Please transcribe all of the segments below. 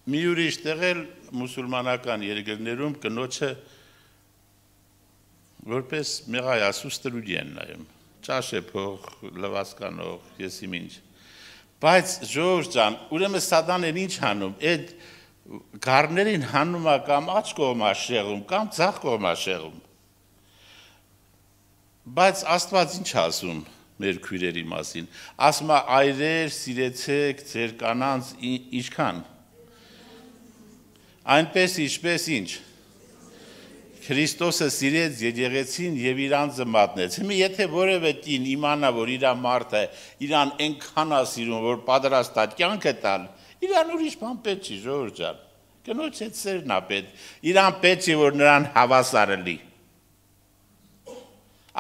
մի ուրիշ տեղել մուսուլմանական երկրներում կնոջը որպես մեղայասու ստրուդի են նայում, ճաշեփող, լվասկանող, եսիմ ինչ, բայց ժողովուրդ ջան, ուրեմն սատանեն ինչ հանում, այդ գառներին հանում է կամ աջ կողմա շեղում, կամ ձախ կողմա շեղում, բայց Աստված ինչ ասում մեր քույրերի մասին, ասում է այրեր, սիրեցեք ձեր կանանց ինչքան, այնպես ինչպես ինչ, Քրիստոսը սիրեց եկեղեցին եւ իրանձը մատնեց։ Հիմա եթե որևէ կին իմանա, որ իր մարդը իրան այնքան է սիրում, որ պատրաստ է կյանքը տալ, իրան ուրիշ բան պետք չի, ժողովուրդ ջան։ Կնոջ հետ սերն է պետք։ Իրան պետք է որ նրան հավասարը լի։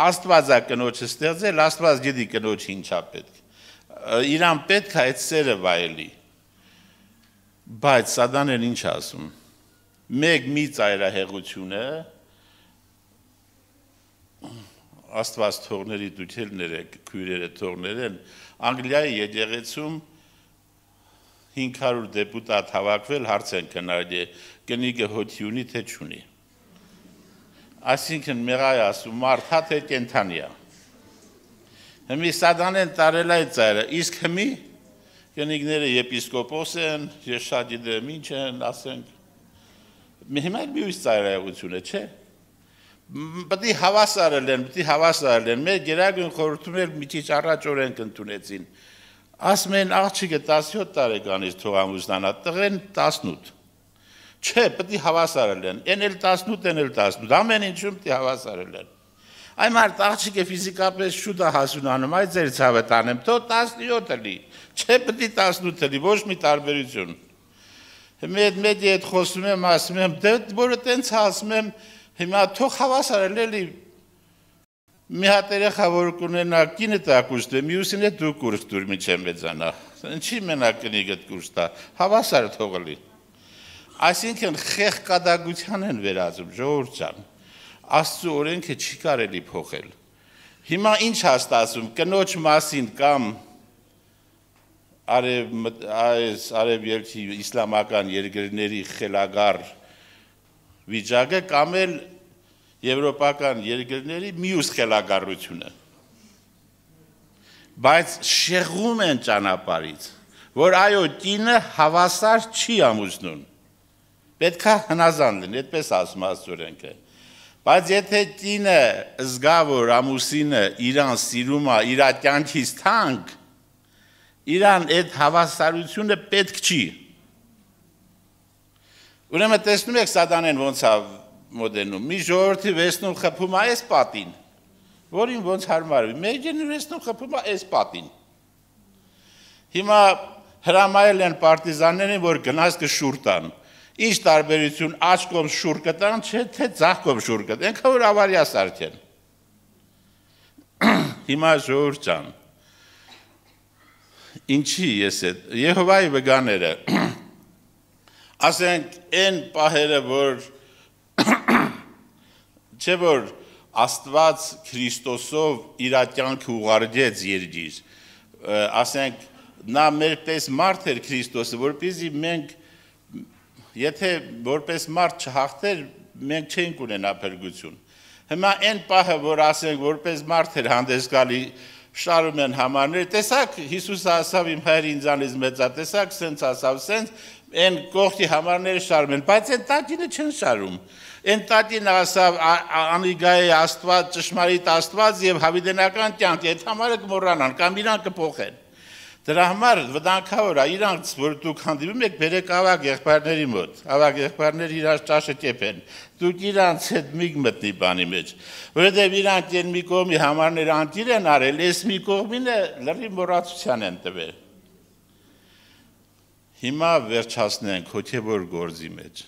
Աստված է կնոջը ստեղծել, Աստված գիտի կնոջ ինչա պետք։ Իրան պետք է այդ սերը վայելի։ Բայց սատանեն ինչ ասում։ Մեկ մի ծայրահեղությունը Աստված թողների դուքելները քույրերը թողներեն Անգլիայի եկեղեցում 500 դեպուտատ հավաքվել հարց են քննարկել կնիկը հոթի ունի թե չունի Այսինքն մեղայասու մարդա թե կենթանիա Հիմի սատանեն տարել այդ ծայրը իսկ հիմի կնիկները եպիսկոպոս են ես շատ գիտեմ ինչ են ասենք հիմա մի ուրիշ ծայրահեղություն է չէ Պետք է հավասարել են, մեր գերագույն խորհրդում էլ մի քիչ առաջ օրենք ընդունեցին։ Ասում են աղջիկը 17 տարեկանից թող ամուսնանա, տղեն 18։ Չէ, պետք է հավասարել են, են էլ 18, են էլ 18, ամեն ինչում պետք է հավասարել են։ Այն մարդ աղջիկը ֆիզիկապես շուտ է հասունանում, այդ ձեր ցավը տանեմ, թող 17 լի, չէ պետք է 18 լի, ոչ մի տարբերություն։ Հիմա այդ մեդի հետ խոսում եմ, ասում եմ, դե որը տենց ասում եմ Հիմա թող հավասարել էլի մի հատ երեխա որ կունենա կինը տա կուրս դե մյուսին է դու կուրս դուր միջև մեծանա ինչի մենակ կնիկդ կուրս տա հավասար թողելի այսինքն խեղկադագության են վերածում ժողովուրդ ջան Աստծո օրենքը չի կարելի փոխել հիմա ինչ հաստատում կնոջ մասին կամ արևելքի իսլամական երկրների խելագար վիճակը կամ էլ եվրոպական երկրների մյուս խելագարությունը բայց շեղում են ճանապարհից որ այո կինը հավասար չի ամուսնուն պետք է հնազանդ լինի այդպես ասում աստորենքը բայց եթե կինը զգա որ ամուսինը իրան սիրում է իր կյանքից թանկ իրան այդ հավասարությունը պետք չի Ուրեմն տեսնում եք սատանեն ոնց է մոդենում, մի ժողովրդի վեսնում խփում է այս պատին, որին ոնց հարմարվի, մեջին վեսնում խփում է այս պատին։ Հիմա հրամայել են պարտիզաններին, որ գնաց կշուր տան, ինչ տարբերություն աջ կողմ շուր կտան, չէ թե ձախ կողմ շուր կտան, ենքը որ ավարյա սարքեն։ Հիմա ժողովուրդ ջան, ինչի ես այդ, Եհովայի վգաները Ասենք այն պահերը, որ չէ որ Աստված Քրիստոսով իր կյանքը ուղարկեց երկիր, ասենք նա մեր պես մարդ էր Քրիստոսը, որպեսզի մենք եթե որպես մարդ չհաղթեր, մենք չենք ունենա փրկություն։ Հիմա այն պահը, որ ասենք որպես մարդ էր հանդես գալի շարում են համարներ, տեսակ Հիսուսը ասավ իմ հայր ինձանից մեծա, տեսակ սենց ասավ, սենց Են կողքի համարները շարում են, բայց են տատինը չեն շարում։ Են տատինը ասավ անիգա է աստված, ճշմարիտ աստված և հավիդենական կյանք, այդ համարը կմոռանան, կամ իրան կփոխեն։ Դրա համար վտանգավոր է, իրանց, որ դուք հանդիպում եք, բերեք ավագ եղբայրների մոտ, ավագ եղբայրներ իրանց ճաշը կեպեն, դուք իրանց հետ միգ մտնի բանի մեջ, որովհետև իրանք են մի կողմի համարները անկիր են արել, այս մի կողմինը լրիվ մոռացության են տվել։ Հիմա վերջացնենք հոգևոր գործի մեջ։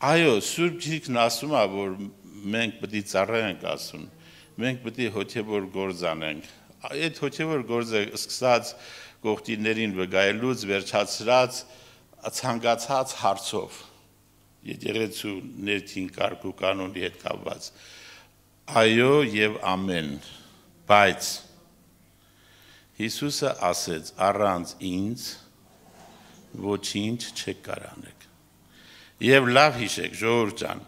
Այո, Սուրբ Գիրքն ասում է, որ մենք պետք է ծառայենք ասում, մենք պետք է հոգևոր գործ անենք։ Այդ հոգևոր գործը սկսած կողքիներին վգայելուց վերջացրած ցանկացած հարցով, եկեղեցու ներքին կարգ ու կանոնի հետ կապված։ Այո եւ ամեն, բայց Հիսուսը ասեց առանց ինձ ոչինչ չեք կարող անեք։ Եվ լավ հիշեք, ժողովուրդ ջան,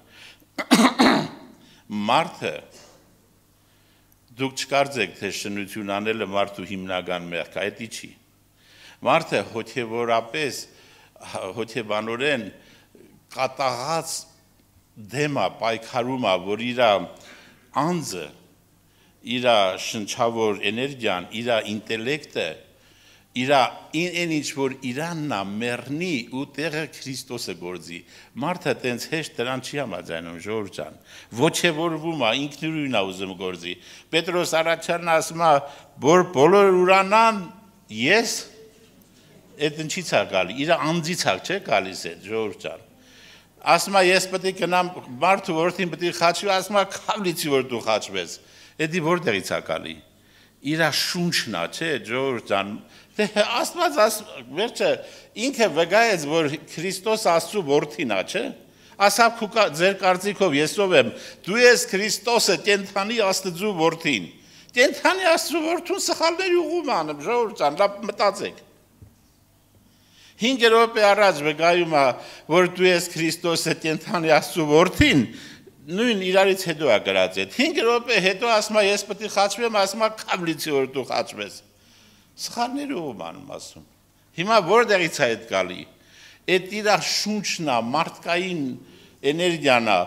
մարդը դուք չկարծեք, թե շնություն անելը մարդու հիմնական մեղք է, դա չի։ Մարդը հոգևորապես, հոգեբանորեն կատաղած դեմա, պայքարում է, որ իր անձը, իր շնչավոր էներգիան, իր ինտելեկտը, իր այն ինչ որ իրանն է մեռնի ու տեղը Քրիստոսը գործի։ Մարդը տենց հեշտ դրան չի համաձայնում, ժողովուրդ ջան։ Ոգևորվում է, ինքնուրույն է ուզում գործի։ Պետրոս առաջարն ասում է, որ բոլոր ուրանան ես այդ ինչից է գալի, իր անձից է չէ գալիս է, ժողովուրդ ջան։ Ասում է ես պետք է գնամ մարդու որդին պետք է խաչվի, ասում է քավլիցի որ դու խաչվես։ Դա որտեղից է գալի։ Իր շունչն է, չէ, ժողովուրդ ջան։ Դե Աստված վերջը ինքը վկայեց, որ Քրիստոս Աստծո որդին է, չէ։ Ասավ ձեր կարծիքով ես ով եմ։ Դու ես Քրիստոսը, կենթանի Աստծո որդին։ Կենթանի Աստծո որդուն սխալների ուղում անում, ժողովուրդ ջան, լավ մտածեք։ 5 րոպե առաջ վկայում է, որ դու ես Քրիստոսը կենթանի Աստծո որդին, նույն իրարից հետո է գրած այդ 5 րոպե հետո ասում է ես պետք է խաչվեմ, ասում է քավլիցի որ դու խաչվես։ Սխալները ում անում ասում։ Հիմա որտեղից է այդ գալի։ Այդ իր շունչն է, մարդկային էներգիան է։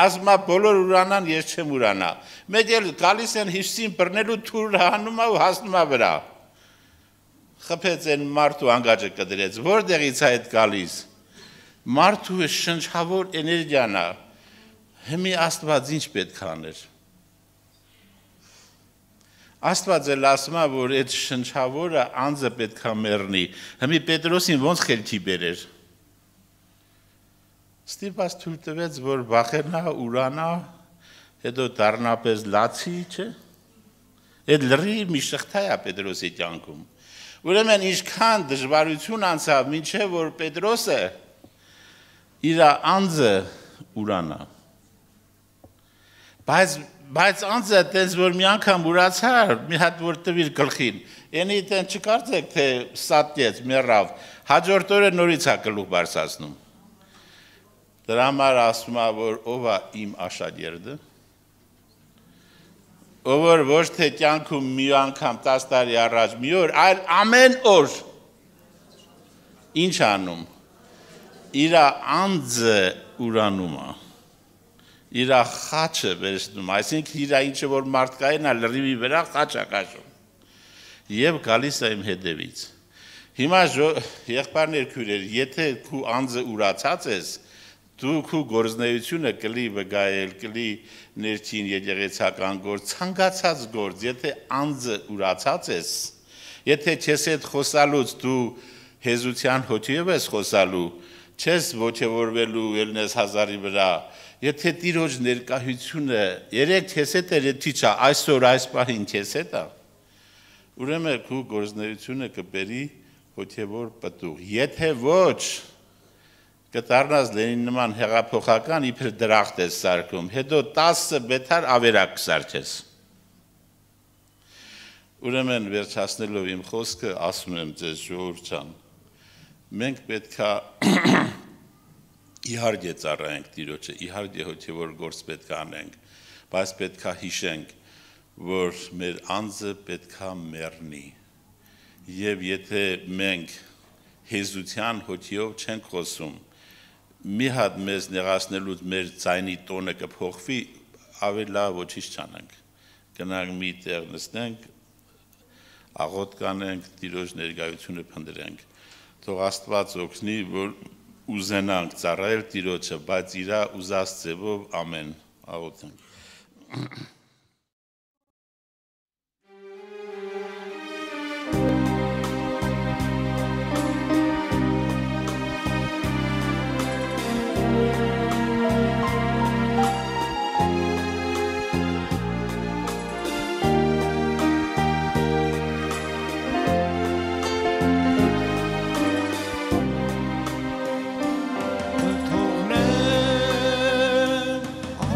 Ասում է բոլոր ուրանան ես չեմ ուրանա։ Մեկ էլ գալիս են հիշին բռնելու թուր հանում է ու հասնում է վրա։ Խփեց են մարդու անգաջը կդրեց, որտեղից է այդ գալիս։ Մարդու շնչավոր էներգիան է։ Հիմի Աստված ինչ պետք է աներ։ Աստված էլ ասում է, որ այդ շնչավորը անձը պետք է մեռնի։ Հիմի Պետրոսին ոնց խելքի բերեր։ Ստիպած թույլ տվեց, որ վախենա, ուրանա, հետո դառնապես լացի, չէ։ Այդ լրիվ մի շղթա է Պետրոսի կյանքում։ Ուրեմն ինչքան դժվարություն անցավ, մինչև որ Պետրոսը իր անձը ուրանա։ Բայց անձը տենց որ մի անգամ ուրացար, մի հատ որ տվիր գլխին, ենի տեն չկարծեք, թե սատկեց, մեռավ, հաջորդ օրը նորից է գլուխ բարձրացնում։ Դրա համար ասում է, որ ով է իմ աշակերտը, ով որ ոչ թե կյանքում մի անգամ 10 տարի առաջ մի օր, այլ ամեն օր ինչ անում, իր անձը ուրանում է, իր խաչը վերցնում, այսինքն իր ինչը որ մարդկային է լրիվի վրա խաչ է կաշում և գալիս է իմ հետևից։ Հիմա եղբայրներ քույրեր, եթե քու անձը ուրացած ես, դու քու գործնեությունը կլի վկայել, կլի ներքին եկեղեցական գործ, ցանկացած գործ, եթե անձը ուրացած ես, եթե քեզ հետ խոսալուց դու հեզության հոգիով ես խոսալու, չես ոգևորվելու ելնես հազարի վրա, եթե Տիրոջ ներկայությունը երեք քեզ հետ է, չի չա, այսօր այս պահին քեզ հետ է, ուրեմն քու գործնեությունը կբերի հոգևոր պտուղ, եթե ոչ կդառնաս Լենին նման հեղափոխական իբր դրախտ ես սարքում, հետո 10 բետար ավերակ կսարքես։ Ուրեմն վերջացնելով իմ խոսքը ասում եմ ձեզ ժողովուրդ ջան, մենք պետք է իհարկե ծառայենք Տիրոջը, իհարկե հոգևոր գործ պետք է անենք, բայց պետք է հիշենք, որ մեր անձը պետք է մեռնի։ Եվ եթե մենք հեզության հոգիով չենք խոսում, մի հատ մեզ նեղացնելուց մեր ձայնի տոնը կփոխվի, ավելի լավ ոչինչ չանենք։ Գնանք մի տեղ նստենք, աղոտ կանենք, Տիրոջ ներկայությունը փնտրենք։ Թող Աստված օգնի, որ ուզենանք ծառայել Տիրոջը, բայց իր ուզած ձևով ամեն աղոթենք։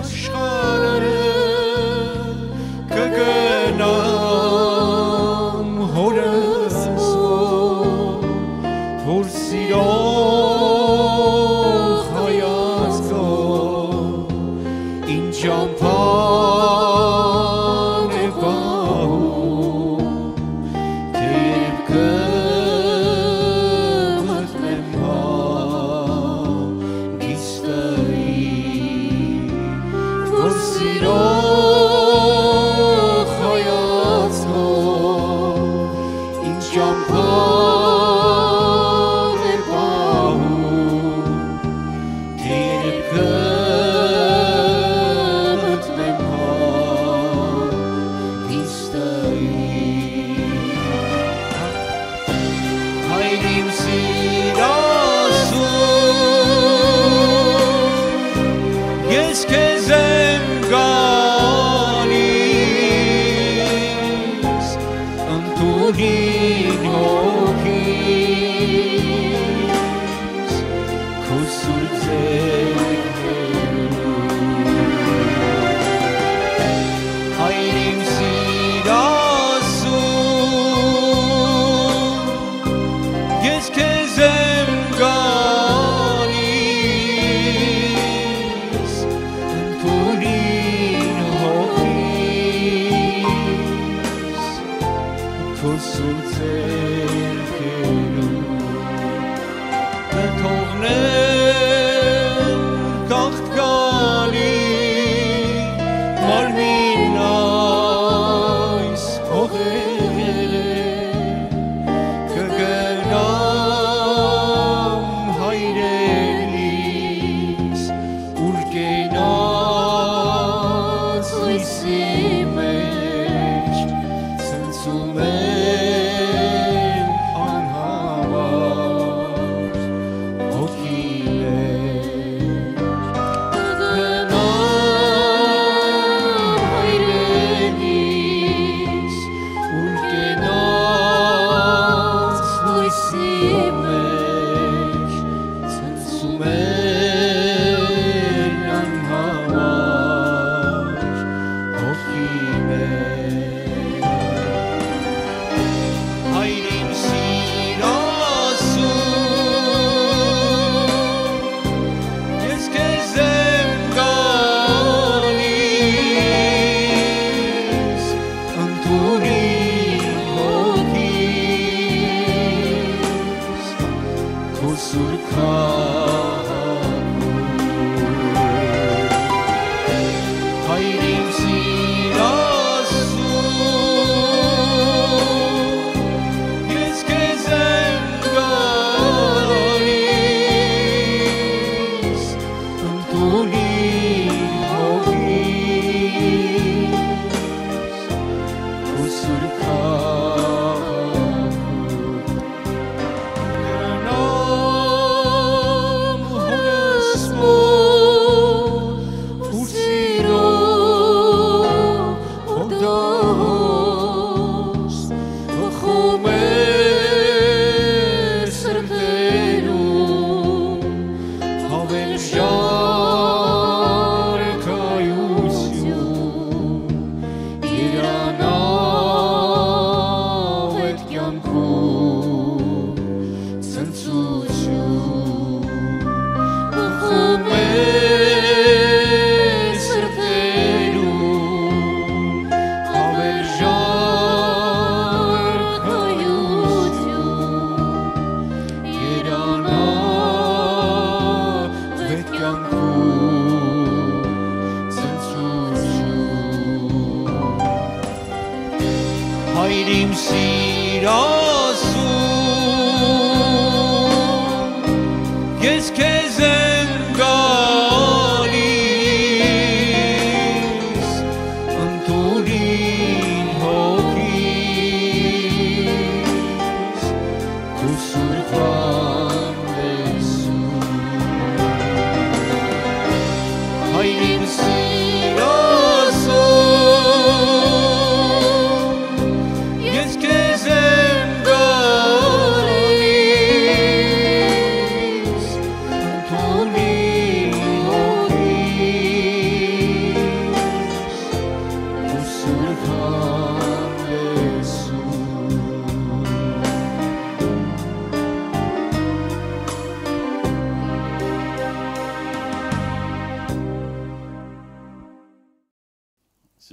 Աշխարհը սիրող հայացքով ինձ ճամփան է պահում թե երբ կմտնեմ հանգիստի որ սիրող հայացքով ինձ ճամփան է պահում թե երբ կմտնեմ հանգիստի Հայր իմ սիրասուն ես քեզ եմ գալիս ընդունին հոգիս քո սուրբ ձեռքերում Հայր իմ սիրասուն ես քեզ եմ գալիս ընդունին հոգիս քո սուրբ ձեռքերում թողնեմ կաղթկալի մարմին այս հողերը կգնամ հայրենիս ուր կենաց լույսի մեջ ցնցում եմ անհավար հոգիներ կգնամ հայրենիս ուր կենաց լույսի մեջ ցնցում եմ անհավար հոգիներ Հայր իմ սիրասուն ես քեզ եմ գալիս ընդունին հոգիս քո սուրբ քաղաքում Հայր իմ սիրասուն ես քեզ եմ գալիս ընդունին հոգիս քո սուրբ քաղաքում գնամ հորս մոտ ուր սիրող հորդոս բխում էր սրտերում հավերժար կայություն երանավ էդ կյանքում ցնծություն բխում էր սրտերում հավերժար կայություն երանավ էդ կյանքում ցնծություն Հայր իմ սիրասուն ես քեզ եմ գալիս ընդունին հոգիս քո սուրբ հանդեսում Հայր իմ սիրասուն ես քեզ եմ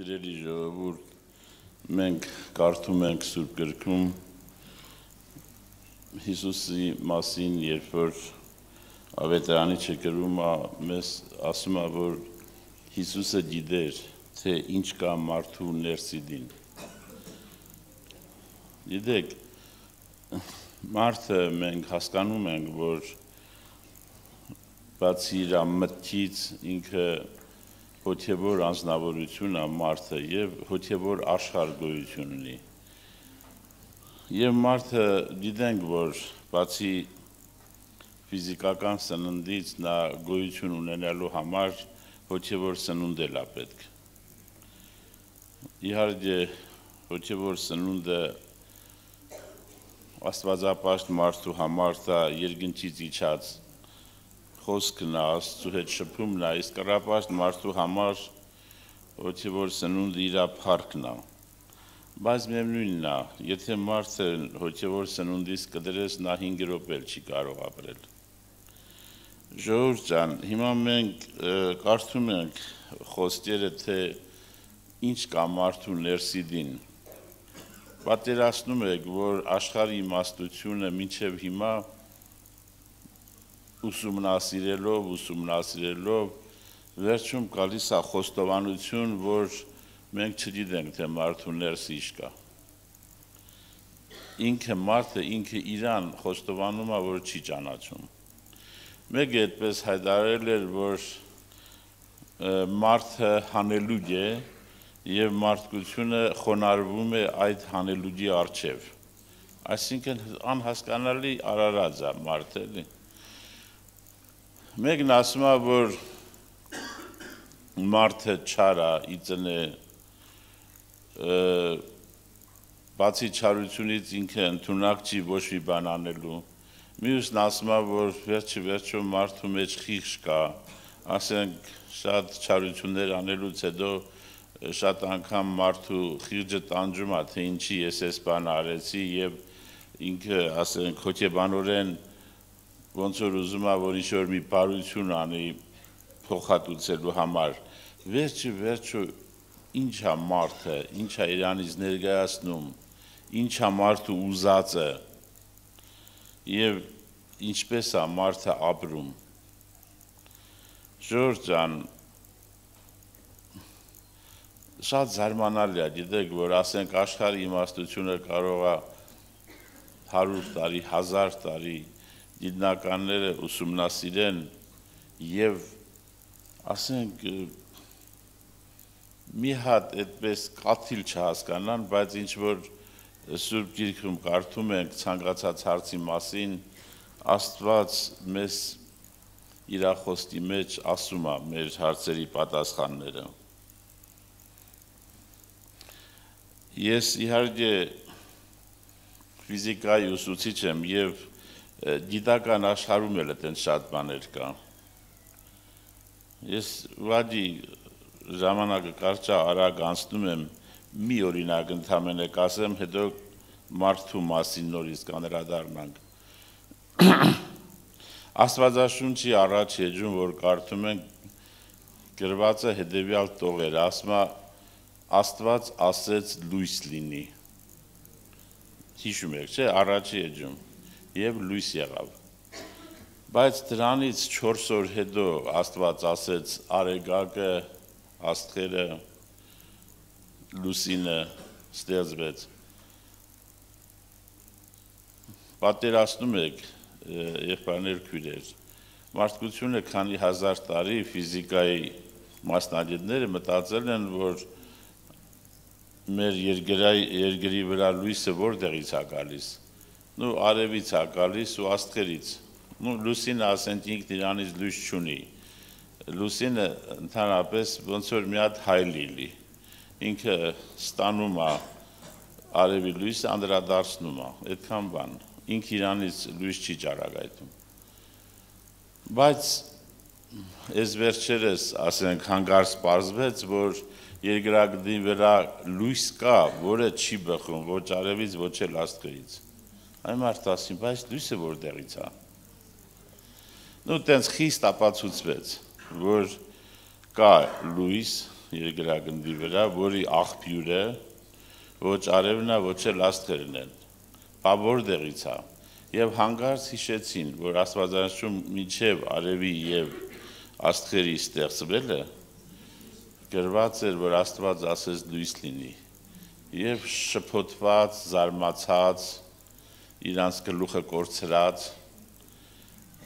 Սիրելի ժողովուրդ, մենք կարդում ենք Սուրբ գրքում Հիսուսի մասին, երբ որ ավետարանիչը գրում է, մեզ ասում է, որ Հիսուսը գիտեր, թե ինչ կա մարդու ներսիդին։ Գիտեք, մարդը մենք հասկանում ենք, որ բացի իր մտքից ինքը հոգևոր անձնավորություն է մարդը եւ հոգևոր աշխարհ գոյություն ունի։ Եվ մարդը գիտենք, որ բացի ֆիզիկական սննդից նա գոյություն ունենալու համար հոգևոր սնունդ էլ է պետք։ Իհարկե հոգևոր սնունդը աստվածապաշտ մարդու համար դա երկնքից իջած խոսքն է, Աստծո հետ շփումն է, իսկ կռապաշտ մարդու համար հոգևոր սնունդը իր փառքն է։ Բայց միևնույնն է, եթե մարդը հոգևոր սնունդից կդրես, նա 5 րոպե չի կարող ապրել։ Ժողովուրդ ջան, հիմա մենք կարդում ենք խոսքերը, թե ինչ կա մարդու ներսիդին։ Պատկերացնում եք, որ աշխարհի իմաստությունը մինչև հիմա ուսումնասիրելով վերջում գալիս է խոստովանություն, որ մենք չգիտենք, թե մարդու ներսը ինչ կա։ Ինքը մարդը ինքը իրան խոստովանում է, որ չի ճանաչում։ Մեկը այդպես հայտարարել էր, որ մարդը հանելուկ է եւ մարդկությունը խոնարհվում է այդ հանելուկի առջև։ Այսինքն անհասկանալի արարած է մարդը, էլի։ Մեկն ասում է, որ մարդը չար է, իծն է, բացի չարությունից ինքը ընդունակ չի ոչ մի բան անելու։ Մյուսն ասում է, որ վերջը մարդու մեջ խիղճ կա, ասենք շատ չարություններ անելուց հետո շատ անգամ մարդու խիղճը տանջում է, թե ինչի ես այս բանը արեցի եւ ինքը, ասենք, հոգեբանորեն ոնց որ ուզում է, որ ինչ-որ մի բարություն անի փոխհատուցելու համար։ Վերջը ինչ է մարդը, ինչ է իրանից ներկայացնում, ինչ է մարդու ուզածը եւ ինչպես է մարդը ապրում։ Ժողովուրդ ջան, շատ զարմանալի է, գիտեք, որ ասենք աշխարհի իմաստությունը կարող է 100 տարի, 1000 տարի գիտնականները ուսումնասիրեն եւ ասենք մի հատ այդպես կաթիլ չհասկանան, բայց ինչ որ Սուրբ Գիրքում կարդում ենք ցանկացած հարցի մասին, Աստված մեզ իր խոսքի մեջ ասում է մեր հարցերի պատասխանները։ Ես իհարկե ֆիզիկայի ուսուցիչ եմ եւ գիտական աշխարհում էլ այդպես շատ բաներ կա։ Ես ուղղակի ժամանակը կարճ արագ անցնում եմ, մի օրինակ ընդհանրապես կասեմ, հետո մարդու մասին նորից կանրադառնանք։ Աստվածաշունչի առաջ էջում, որ կարդում ենք, գրված է հետևյալ տողեր, ասում է Աստված ասեց լույս լինի։ Հիշում եք, չէ, առաջի էջում եւ լույս եղավ։ Բայց դրանից 4 օր հետո Աստված ասեց արեգակը, աստղերը, լուսինը ստեղծվեց։ Պատկերացնում եք, եղբայրներ, քույրեր, մարդկությունը քանի հազար տարի ֆիզիկայի մասնագետները մտածել են, որ մեր երկրի վրա լույսը որտեղից է գալիս։ Նու արևից է գալիս ու աստղերից։ Նու լուսինը ասենք ինքն իրանից լույս չունի։ Լուսինը ընդհանրապես ոնց որ մի հատ հայլի լի։ Ինքը ստանում է արևի լույսը, անդրադարձնում է, այդքան բան։ Ինքը իրանից լույս չի ճարագայթում։ Բայց այս վերջերս, ասենք, հանգարց պարզվեց, որ երկրագնդի վրա լույս կա, որը չի բխում ոչ արևից, ոչ էլ աստղերից։ Այն մարդը ասին, բայց լույսը որտեղից է։ Նու տենց խիստ ապացուցվեց, որ կա լույս, երկրագնդի վրա, որի աղբյուրը ոչ արևն է, ոչ էլ աստղերն են։ Բա որտեղից է։ Եվ հանկարծ հիշեցին, որ Աստվածաշունչում մինչև արևի եւ աստղերի ստեղծվելը գրված էր, որ Աստված ասեց լույս լինի։ Եվ շփոթված, զարմացած, իրանց գլուխը կորցրած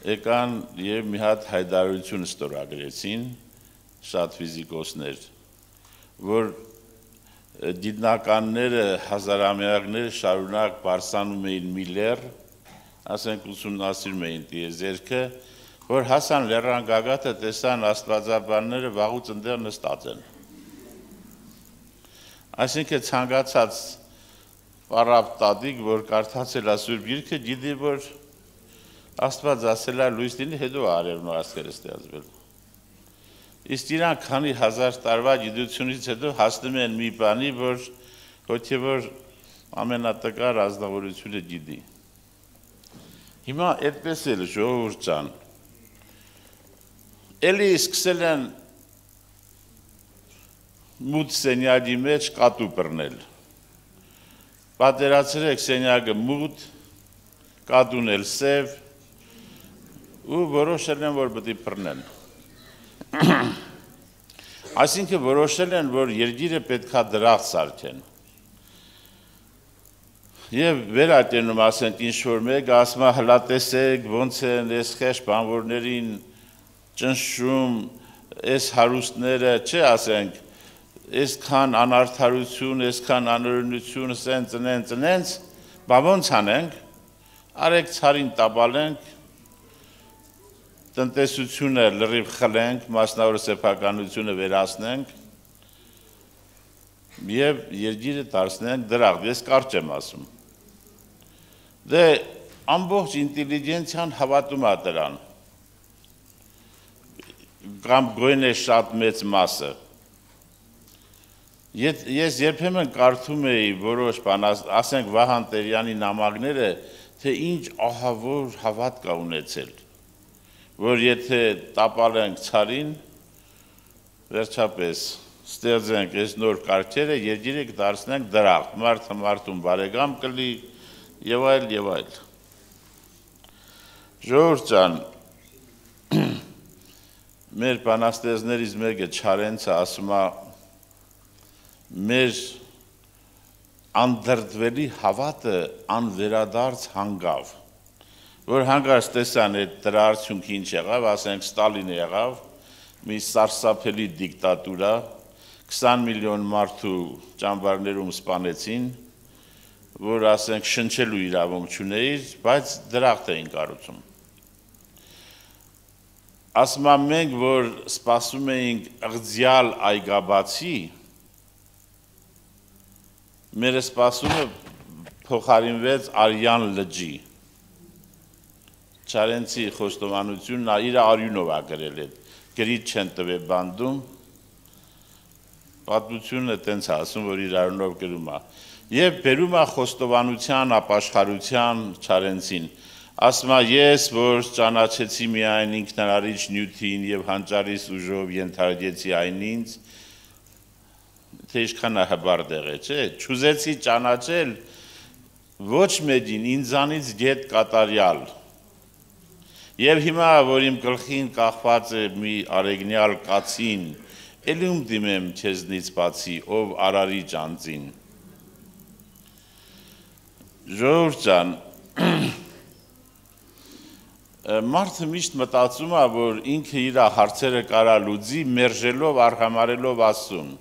եկան եւ մի հատ հայտարարություն ստորագրեցին շատ ֆիզիկոսներ, որ գիտնականները հազարամյակներ շարունակ բարսանում էին մի լեռ, ասենք ուսումնասիրում էին տիեզերքը, որ հասան լեռան գագաթը, տեսան աստվածաբանները վաղուց ընդեղ նստած են։ Այսինքն ցանկացած պարապ տատիկ, որ կարդացել է Սուրբ Գիրքը, գիտի, որ Աստված ասել է լույս լինի, հետո արևն ու աստղերը ստեղծվել։ Իսկ իրանք քանի հազար տարվա գիտությունից հետո հասնում են մի բանի, որ հոգևոր ամենատկար ազնվորությունը գիտի։ Հիմա այդպես էլ ժողովուրդ ջան, էլի սկսել են մութ սենյակի մեջ կատու բռնել։ Պատերացրեք սենյակը մութ, կատուն էլ սև, ու որոշել են, որ պետք է բռնեն։ Այսինքն որոշել են, որ երկիրը պետքա դրախտ սարքեն։ Եվ վերատենում ասենք ինչ-որ մեկը, ասում է հլա տեսեք, ոնց են այս խեղճ բանվորներին ճնշում, այս հարուստները, չէ ասենք, այսքան անարդարություն, այսքան անօրենություն, ծնենց, բա ոնց անենք, արեք ցարին տապալենք, տնտեսությունը լրիվ խլենք, մասնավոր սեփականությունը վերացնենք եւ երկիրը դարձնենք դրախտ, ես կարճ եմ ասում։ Դե ամբողջ ինտելիգենցիան հավատում է դրան, կամ գոյն է շատ մեծ մասը։ Ես երբեմն կարդում էի որոշ բան, ասենք Վահան Տերյանի նամակները, թե ինչ ահավոր հավատ կա ունեցել, որ եթե տապալենք ցարին, վերջապես ստեղծենք այս նոր կարգերը, երկիրը կդարձնենք դրախտ, մարդը մարդուն բարեկամ կլի եւ այլ եւ այլ։ Ժողովուրդ ջան, մեր բանաստեղծներից մեկը Չարենցը ասում է մեր անդրդվելի հավատը անվերադարձ հանգավ, որ հանկարծ տեսան այդ դրա արդյունքը ինչ եղավ, ասենք Ստալինը եղավ, մի սարսափելի դիկտատուրա, 20 միլիոն մարդու ճամբարներում սպանեցին, որ ասենք շնչելու իրավունք չուներ, բայց դրախտ էին կառուցում։ Ասում եմ մենք, որ սպասում էինք ըղձյալ այգաբացի, մեր սպասումը փոխարինվեց արյան լճի։ Չարենցի խոստովանությունն իր արյունով է գրել այդ, գրիչ չեն տվել բանդում, պատմությունը տենց է ասում, որ իր արյունով գրում է։ Եվ բերում է խոստովանության, ապաշխարության Չարենցին, ասում է ես, որ ճանաչեցի միայն ինքնարարիչ նյութին եւ հանճարիս ուժով ենթարկեցի այն ինձ, թե ինչքան է հբարդեղ է, չէ, չուզեցի ճանաչել ոչ մեկին ինձանից գետ կատարյալ։ Եվ հիմա, որ իմ գլխին կախված է մի արեգնյալ կացին, էլի ում դիմեմ քեզնից բացի, ով արարիչ անձին։ Ժողովուրդ ջան, մարդը միշտ մտածում է, որ ինքը իր հարցերը կարա լուծի, մերժելով, արհամարելով Աստծուն։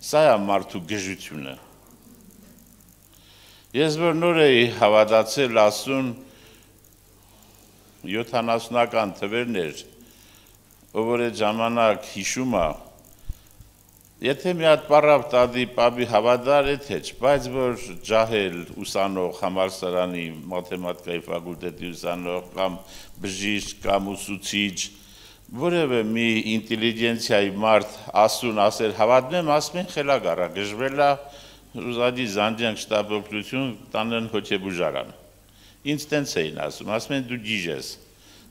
Սա է մարդու գժությունը։ Ես որ նոր էի հավատացել Աստծուն, 70-ական թվերն էր, ով որ այդ ժամանակ հիշում է, եթե մի հատ պարապ տադի պաբի հավատար է թե չէ, բայց որ ջահել ուսանող համալսարանի մաթեմատիկայի ֆակուլտետի ուսանող կամ բժիշկ կամ ուսուցիչ, որևէ մի ինտելիգենցիայի մարդ Աստծուն ասել հավատում եմ, ասում են խելագար է, գժվել է, ուզադի զանջանք շտապօգնություն տանեն հոգեբուժարան։ Ինձ տենց էին ասում են դու գիժ ես։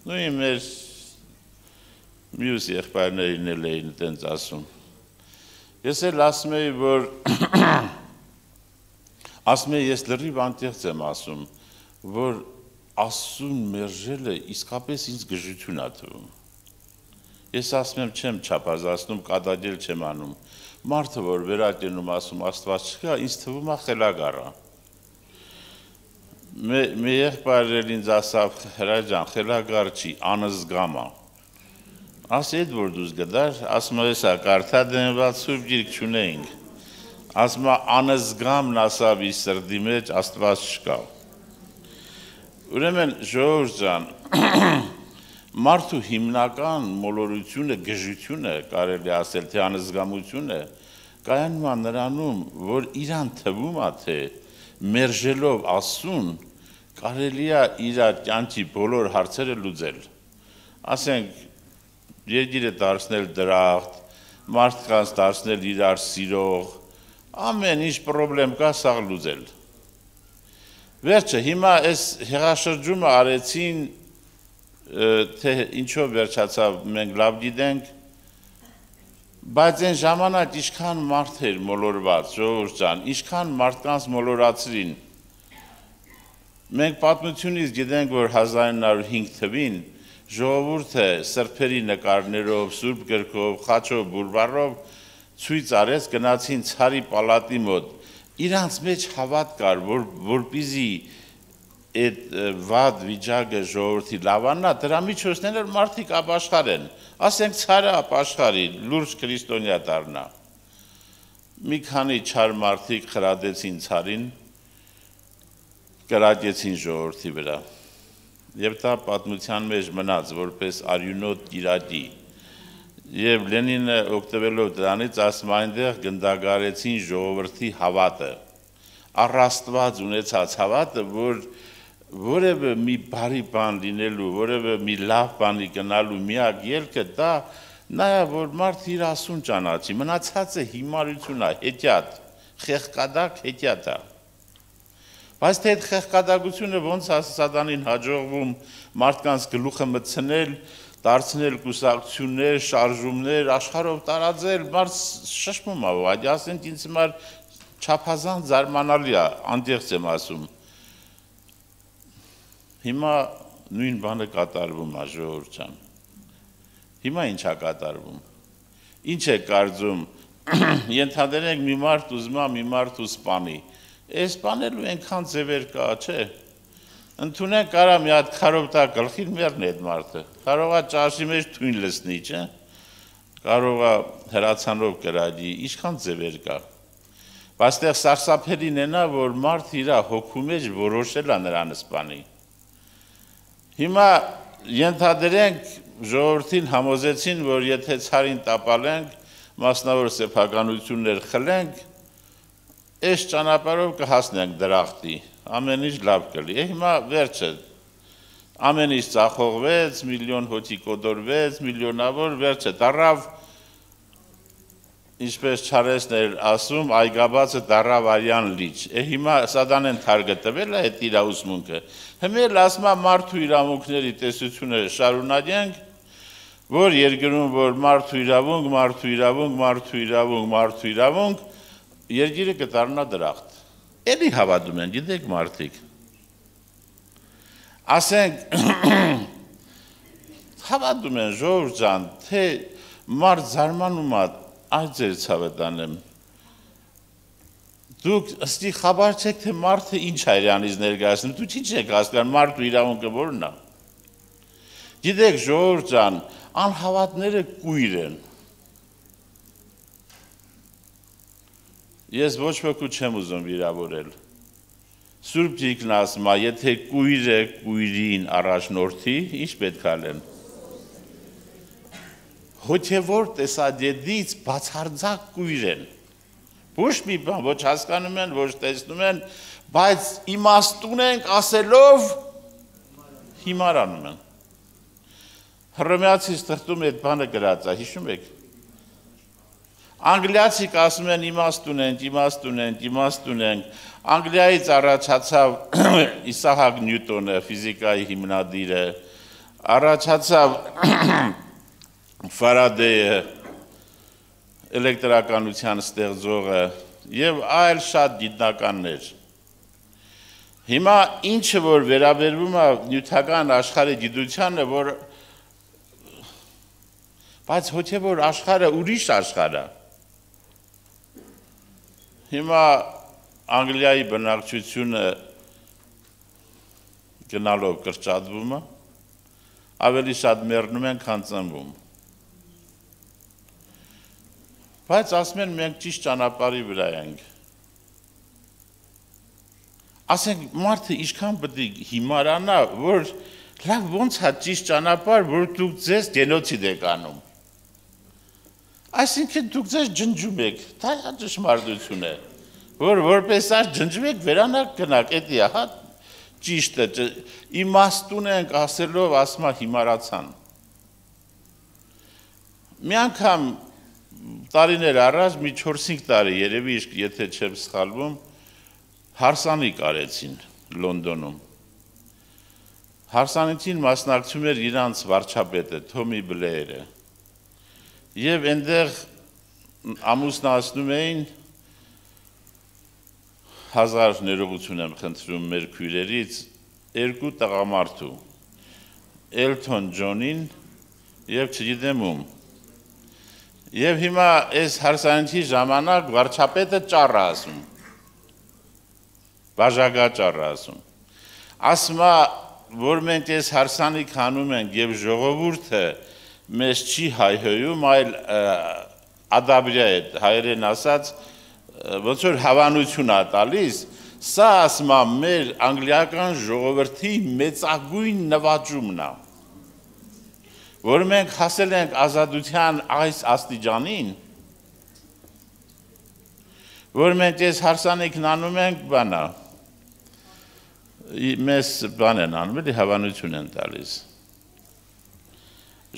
Նույն մեր մյուս եղբայրներին էլ էին տենց ասում։ Ես էլ ասում եի, որ ասում եի, ես լրիվ անտեղծ եմ ասում, որ Աստծուն մերժելը իսկապես ինձ գժություն է թվում։ Ես ասում եմ, չեմ չափազանցնում, կատակել չեմ անում։ Մարդը, որ վերակենում ասում Աստված չկա, ինձ թվում է խելագար է։ Մի եղբայր էլ ինձ ասավ, հրաժան, խելագար չի, անզգամ է։ Ասի էդ որ դուզ գդար, ասում է սա կարթա դենված սուրբ գիրք չունեինք։ Ասում է անզգամն ասավ իր սրտի մեջ, Աստված չկա։ Ուրեմն ժողովուրդ ջան, մարդու հիմնական մոլորությունը, գժությունը, կարելի ասել, թե անզգամությունը, կայանում է նրանում, որ իրան թվում է, թե մերժելով Աստծուն, կարելի է իր կյանքի բոլոր հարցերը լուծել։ Ասենք, երկիրը դարձնել դրախտ, մարդկանց դարձնել իրար սիրող, ամեն ինչ պրոբլեմ կա, սաղ լուծել։ Վերջը, հիմա այս հեղաշրջումը արեցին, թե ինչով վերջացավ, մենք լավ գիտենք, բայց այն ժամանակ ինչքան մարդ էր մոլորված, ժողովուրդ ջան, ինչքան մարդկանց մոլորացրին։ Մենք պատմությունից գիտենք, որ 1905 թվին ժողովուրդը սրբերի նկարներով, սուրբ գրքով, խաչով, բուրբառով ցույց արեց, գնացին ցարի պալատի մոտ։ Իրանց մեջ հավատ կար, որպեսզի այդ վատ վիճակը ժողովրդի լավանա, դրա միջոցներով մարդիկ ապաշխարեն, ասենք ցարը ապաշխարի, լուրջ քրիստոնյա դառնա։ Մի քանի չար մարդիկ խրատեցին ցարին, կրակեցին ժողովրդի վրա։ Եվ դա պատմության մեջ մնաց, որպես արյունոտ գիրակի։ Եվ Լենինը օգտվելով դրանից ասում այնտեղ գնդագարեցին ժողովրդի հավատը, առաստված ունեցած հավատը, որ որևէ մի բարի բան լինելու, որևէ մի լավ բանի գնալու միակ ելքը դա նա է, որ մարդը իր Աստծուն ճանաչի, մնացածը հիմարություն է, հետիատ, խեղկադակ հետիատ է։ Բայց թե այդ խեղկադակությունը ոնց է սատանին հաջողվում մարդկանց գլուխը մտցնել, դարձնել կուսակցություններ, շարժումներ, աշխարհով տարածել, մարդ շշմում է, այդ ասենք ինձ համար չափազանց զարմանալի է, անդեղծ եմ ասում։ Հիմա նույն բանը կատարվում է, ժողովուրդ ջան։ Հիմա ինչ է կատարվում։ Ինչ է կարծում, ենթադրենք մի մարդ ուզում է մի մարդ ու սպանի։ Այս սպանելու այնքան ձևեր կա, չէ։ Ընդունենք կարա մի հատ քարով տա գլխին մեռնի այդ մարդը, կարող է ճաշի մեջ թույն լցնի, չէ, կարող է հրացանով կրակի, ինչքան ձևեր կա։ Բայց այդտեղ սարսափելին է նա, որ մարդը իր հոգու մեջ որոշել է նրան սպանի։ Հիմա ենթադրենք ժողովրդին համոզեցին, որ եթե ցարին տապալենք, մասնավոր սեփականություններ խլենք, այս ճանապարհով կհասնենք դրախտի, ամեն ինչ լավ կլի։ Հիմա վերջը, ամեն ինչ ծախողվեց, միլիոն հոգի կոդորվեց, միլիոնավոր վերջը դառավ, ինչպես Չարեսն էր ասում, այգաբացը դառավ արյան լիճ։ Հիմա սատանեն թարգը տվել է այդ իր ուսմունքը։ Հիմա էլ ասում է մարդու իրավունքների տեսությունը շարունակենք, որ երկրում որ մարդու իրավունք, մարդու իրավունք, մարդու իրավունք, մարդու իրավունք, երկիրը կդառնա դրախտ։ Էլի հավատում են, գիտեք մարդիկ։ Ասենք, հավատում են ժողովուրդ ջան, թե մարդ զարմանում է, այդ ձեր ցավը տանեմ։ Դուք ըստի խաբար չեք, թե մարդը ինչ է իրանից ներկայացնում, դուք ինչ եք հասկանում, մարդու իրավունքը որն է։ Գիտեք ժողովուրդ ջան, անհավատները կույր են։ Ես ոչ ոքի չեմ ուզում վիրավորել։ Սուրբ Գիրքն ասում է, եթե կույրը կույրին առաջնորդի, ինչ պետք է ալեն։ Հոգևոր տեսակետից բացարձակ կույր են։ Ոչ մի բան, ոչ հասկանում են, ոչ տեսնում են, բայց իմաստուն ենք ասելով հիմարանում են։ Հռոմեացիս թղթում այդ բանը գրած է, հիշում եք։ Անգլիացիք ասում են իմաստուն ենք, իմաստուն ենք, իմաստուն ենք։ Անգլիայից առաջացավ Իսահակ Նյուտոնը, ֆիզիկայի հիմնադիրը, առաջացավ Ֆարադեյը, էլեկտրականության ստեղծողը եւ այլ շատ գիտնականներ։ Հիմա ինչը որ վերաբերվում է նյութական աշխարհի գիտությանը, որ բայց հոգեվոր աշխարհը ուրիշ աշխարհ է։ Հիմա Անգլիայի բնակչությունը գնալով կրճատվում է, ավելի շատ մեռնում են, քան ծնվում։ Բայց ասում են մենք ճիշտ ճանապարհի վրա ենք։ Ասենք մարդը ինչքան պետք է հիմարանա, որ լավ ոնց է ճիշտ ճանապարհ, որ դուք ձեզ գենոցիդ եք անում։ Այսինքն դուք ձեզ ջնջում եք, դա ճշմարտություն է, որ որպես այս ջնջում եք, վերանակ գնաք, էդի է, հա, ճիշտ է, իմաստուն ենք ասելով, ասում է հիմարացան։ Մի անգամ տարիներ առաջ, մի 4-5 տարի, երևի եթե չեմ սխալվում, հարսանիք արեցին Լոնդոնում։ Հարսանիքին մասնակցում էր իրանց վարչապետը, Թոմի Բլեյերը։ Եվ այնտեղ ամուսնացնում էին 1000 ներողություն եմ խնդրում մեր քույրերից 2 տղամարդու, Էլթոն Ջոնին եւ չգիտեմ ում։ Եվ հիմա այս հարսանիքի ժամանակ վարչապետը ճառ ասում։ Բաժակա ճառ ասում։ Ասում է, որ մենք այս հարսանիք անում ենք եւ ժողովուրդը մեզ չի հայհոյում, այլ ադաբրիա է, հայերեն ասած, ոնց որ հավանություն է տալիս, սա ասում է մեր անգլիական ժողովրդի մեծագույն նվաճումն է, որ մենք հասել ենք ազատության այս աստիճանին, որ մենք այս հարսանիքն անում ենք բանա, մեզ բան են անում, էլի հավանություն են տալիս։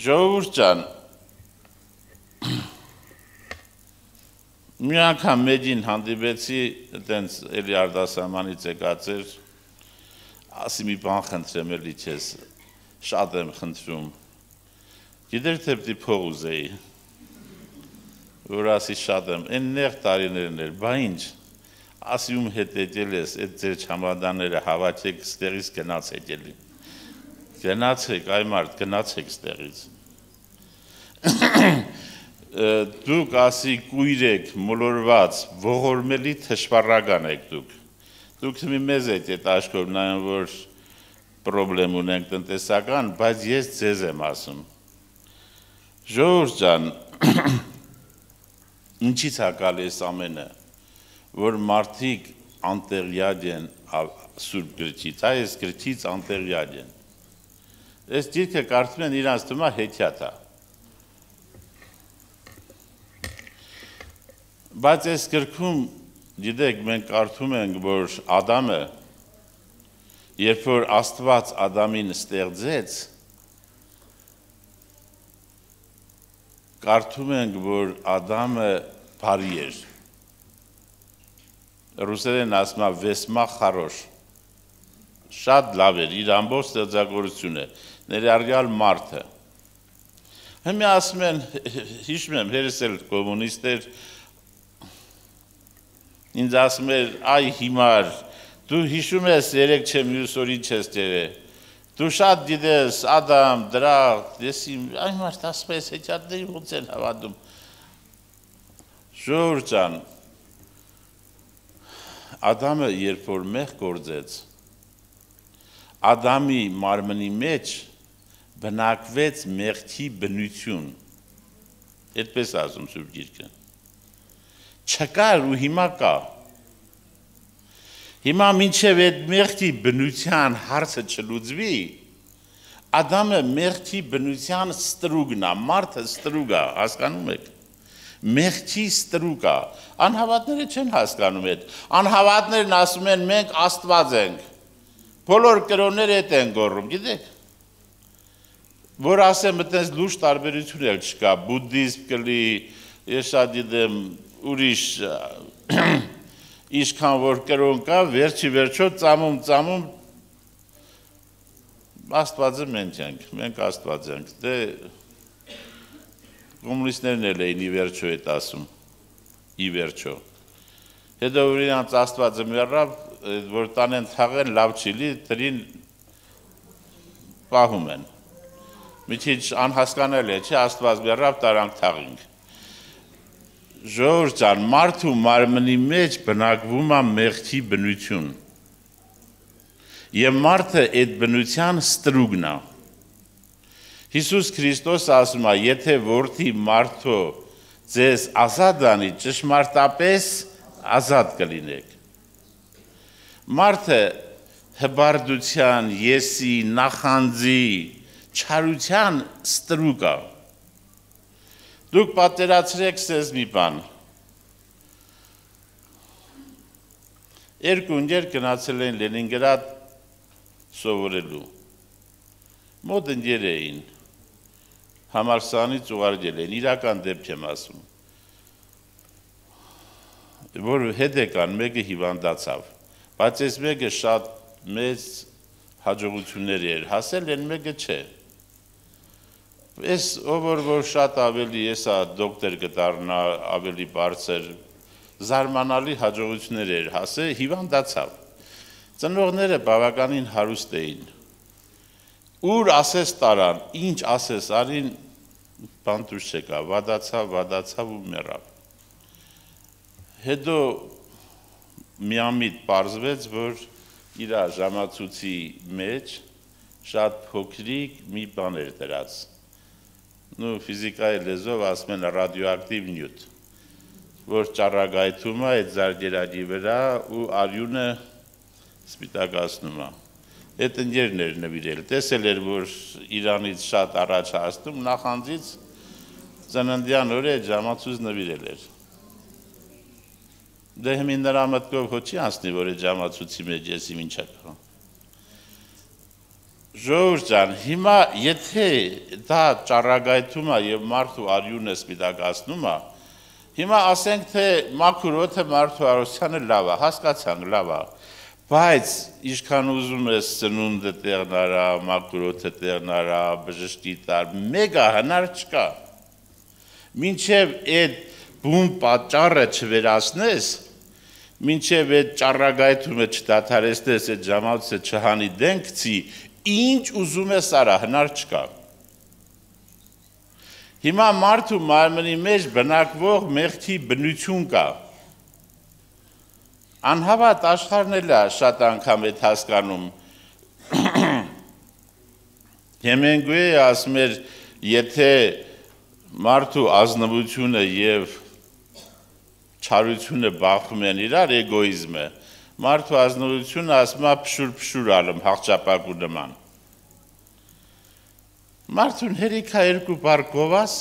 Ժողովուրդ ջան, մի անգամ մեջին հանդիպեցի, տենց էլի արտասահմանից եկած էր, ասի մի բան խնդրեմ էլի չես, շատ եմ խնդրում, գիտեր թե պիտի փող ուզեի, որ ասի շատ եմ, այն նեղ տարիներն էր, բա ինչ, ասի ում հետ եկել ես, այդ ձեր չամադանները հավաքեք, ստեղից գնացեք էլի, գնացեք, այ մարդ, գնացեք ստեղից, դուք ասի կույր եք, մոլորված, ողորմելի թշվառական եք դուք մի մեզ եք այդ աշխով նայում, որ պրոբլեմ ունենք տնտեսական, բայց ես ձեզ եմ ասում, Ժողովուրդ ջան, ինչից է գալի այս ամենը, որ մարդիկ անտեղյակ են Սուրբ գրքից, այս գրքից անտեղյակ են։ Այս գիրքը կարծում են իրանց թվում է հեքիաթ է։ Բայց այս գրքում, գիտեք, մենք կարդում ենք, որ Ադամը, երբ որ Աստված Ադամին ստեղծեց, կարդում ենք, որ Ադամը բարի էր։ Ռուսերեն ասում է վեսմա խարոշ։ Շատ լավ էր, իր ամբողջ ստեղծագործությունը, ներառյալ մարդը։ Հիմա ասում են, հիշում եմ, հերս էլ կոմունիստ էր, ինձ ասում էր, այ հիմար, դու հիշում ես, երեք չեմ մյուս օրին չես տերել։ Դու շատ գիտես, Ադամ, դրախտ, այ մարդ ասում ես, հեքիաթների ոնց են հավատում։ Ժողովուրդ ջան, Ադամը երբ որ մեղ գործեց, Ադամի մարմնի մեջ բնակվեց մեղքի բնություն, այդպես ասում Սուրբ Գիրքը, չկար ու հիմա կա, հիմա մինչև այդ մեղքի բնության հարցը չլուծվի, Ադամը մեղքի բնության ստրուգն է, մարդը ստրուգ է, հասկանում եք, մեղքի ստրուգ է, անհավատները չեն հասկանում այդ, անհավատներն ասում են մենք Աստված ենք, բոլոր կրոնները այդ են գոռում, գիտեք, որ ասեմ այդպես լուրջ տարբերություն էլ չկա, բուդդիզմ կլի, ես շատ գիտեմ ուրիշ Իշքան որ կրոն կա, վերջի վերջո ծամում, Աստվածը մենք ենք, մենք Աստված ենք, դե կոմունիստներն էլ էին ի վերջո այդ ասում, ի վերջո։ Հետո որ իրանց Աստվածը մեռավ, որ տանեն թաղեն, լավ չի լի, դրին պահում են։ Մի քիչ անհասկանալի է, չէ, Աստված մեռավ, տարանք թաղինք։ Ժողովուրդ ջան, մարդու մարմնի մեջ բնակվում է մեղքի բնություն։ Եվ մարդը այդ բնության ստրուգն է։ Հիսուս Քրիստոս ասում է, եթե որդի մարդու ձեզ ազատ անի, ճշմարտապես ազատ կլինեք։ Մարդը հբարդության, եսի, նախանձի, չարության ստրուկ է։ Դուք պատկերացրեք սեզ մի բան։ Երկու ընկեր գնացել են Լենինգրադ սովորելու։ Մոտ ընկեր էին, համալսարանից ուղարկել են, իրական դեպք եմ ասում, որ հետ եկան, մեկը հիվանդացավ, բայց այս մեկը շատ մեծ հաջողություններ էր հասել, են մեկը չէ։ Այս ով որ շատ ավելի եսա դոկտոր կդառնա, ավելի բարձր, զարմանալի հաջողություններ էր հասել, հիվանդացավ։ Ծնողները բավականին հարուստ էին։ Ուր ասես տարան, ինչ ասես արին, բան դուրս չեկա, վադացավ ու մեռավ։ Հետո միամիտ պարզվեց, որ իր ժամացույցի մեջ շատ փոքրիկ մի բան էր դրած։ Ֆիզիկայի լեզվով ասում են ռադիոակտիվ նյութ, որ ճառագայթում է այդ զարկերակի վրա ու արյունը սպիտակացնում է։ Այդ ընկերն էր նվիրել, տեսել էր, որ Իրանից շատ առաջ հասնում, նախանձից ծննդյան օրը այդ ժամացույց նվիրել էր։ Դե հիմին նրա մտքով հոչի անցնի, որ այդ ժամացույցի մեջ ես իմ ինչա կա։ Ժողովուրդ ջան, հիմա եթե դա ճառագայթում է եւ մարդու արյունը սպիտակացնում է, հիմա ասենք թե մաքուր օդը մարդու առողջությանը լավ է, հասկացանք լավ է, բայց ինչքան ուզում ես սնունդը տեղնարա, մաքուր օդը տեղնարա, բժշկի տար, մեգա հնար չկա։ Մինչև այդ բուն պատճառը չվերացնես, մինչև այդ ճառագայթումը չդադարեցնես, այդ ժամացույցը չհանի դենքցի, ինչ ուզում ես արա, հնար չկա։ Հիմա մարդու մարմնի մեջ բնակվող մեղքի բնություն կա։ Անհավատ աշխարհն էլ է շատ անգամ այդ հասկանում։ Հեմինգուեյը ասում էր, եթե մարդու ազնվությունը եւ չարությունը բախում են իրար, էգոիզմը, մարդու ազնվությունը ասում է փշուր ալում հաղճապակու նման։ Մարդուն հերիքա երկու բար գովաս,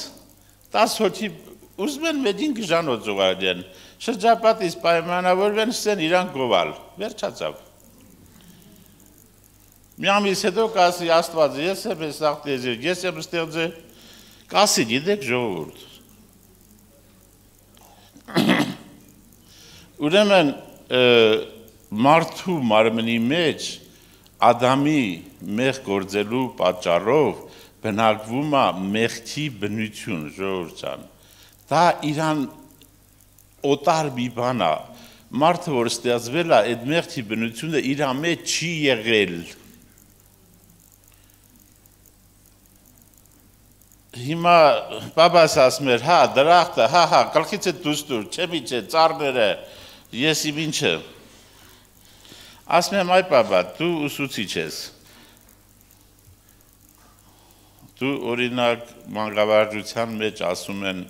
10 հոգի ուզում են մեջին գժանոց ուղարկեն, շրջապատից պայմանավորվեն սեն իրան գովալ, վերջացավ։ Մի ամիս հետո կասի Աստվածը, ես եմ ես աղտեզիր, ես եմ ստեղծել, կասի գիտեք ժողովուրդ։ Ուրեմն մարդու մարմնի մեջ Ադամի մեղ գործելու պատճառով բնակվում է մեղքի բնություն, ժողովուրդ ջան։ Դա իրան օտար մի բան է, մարդը որ ստեղծվել է, այդ մեղքի բնությունը իր մեջ չի եղել։ Հիմա բաբաս ասում էր, հա, դրախտը, հա, գլխից է դուրս դուր, չեմի չէ, ծառները, ես իմ ինչը։ Ասում եմ, այ բաբա, դու ուսուցիչ ես։ Դու օրինակ մանկավարժության մեջ ասում են,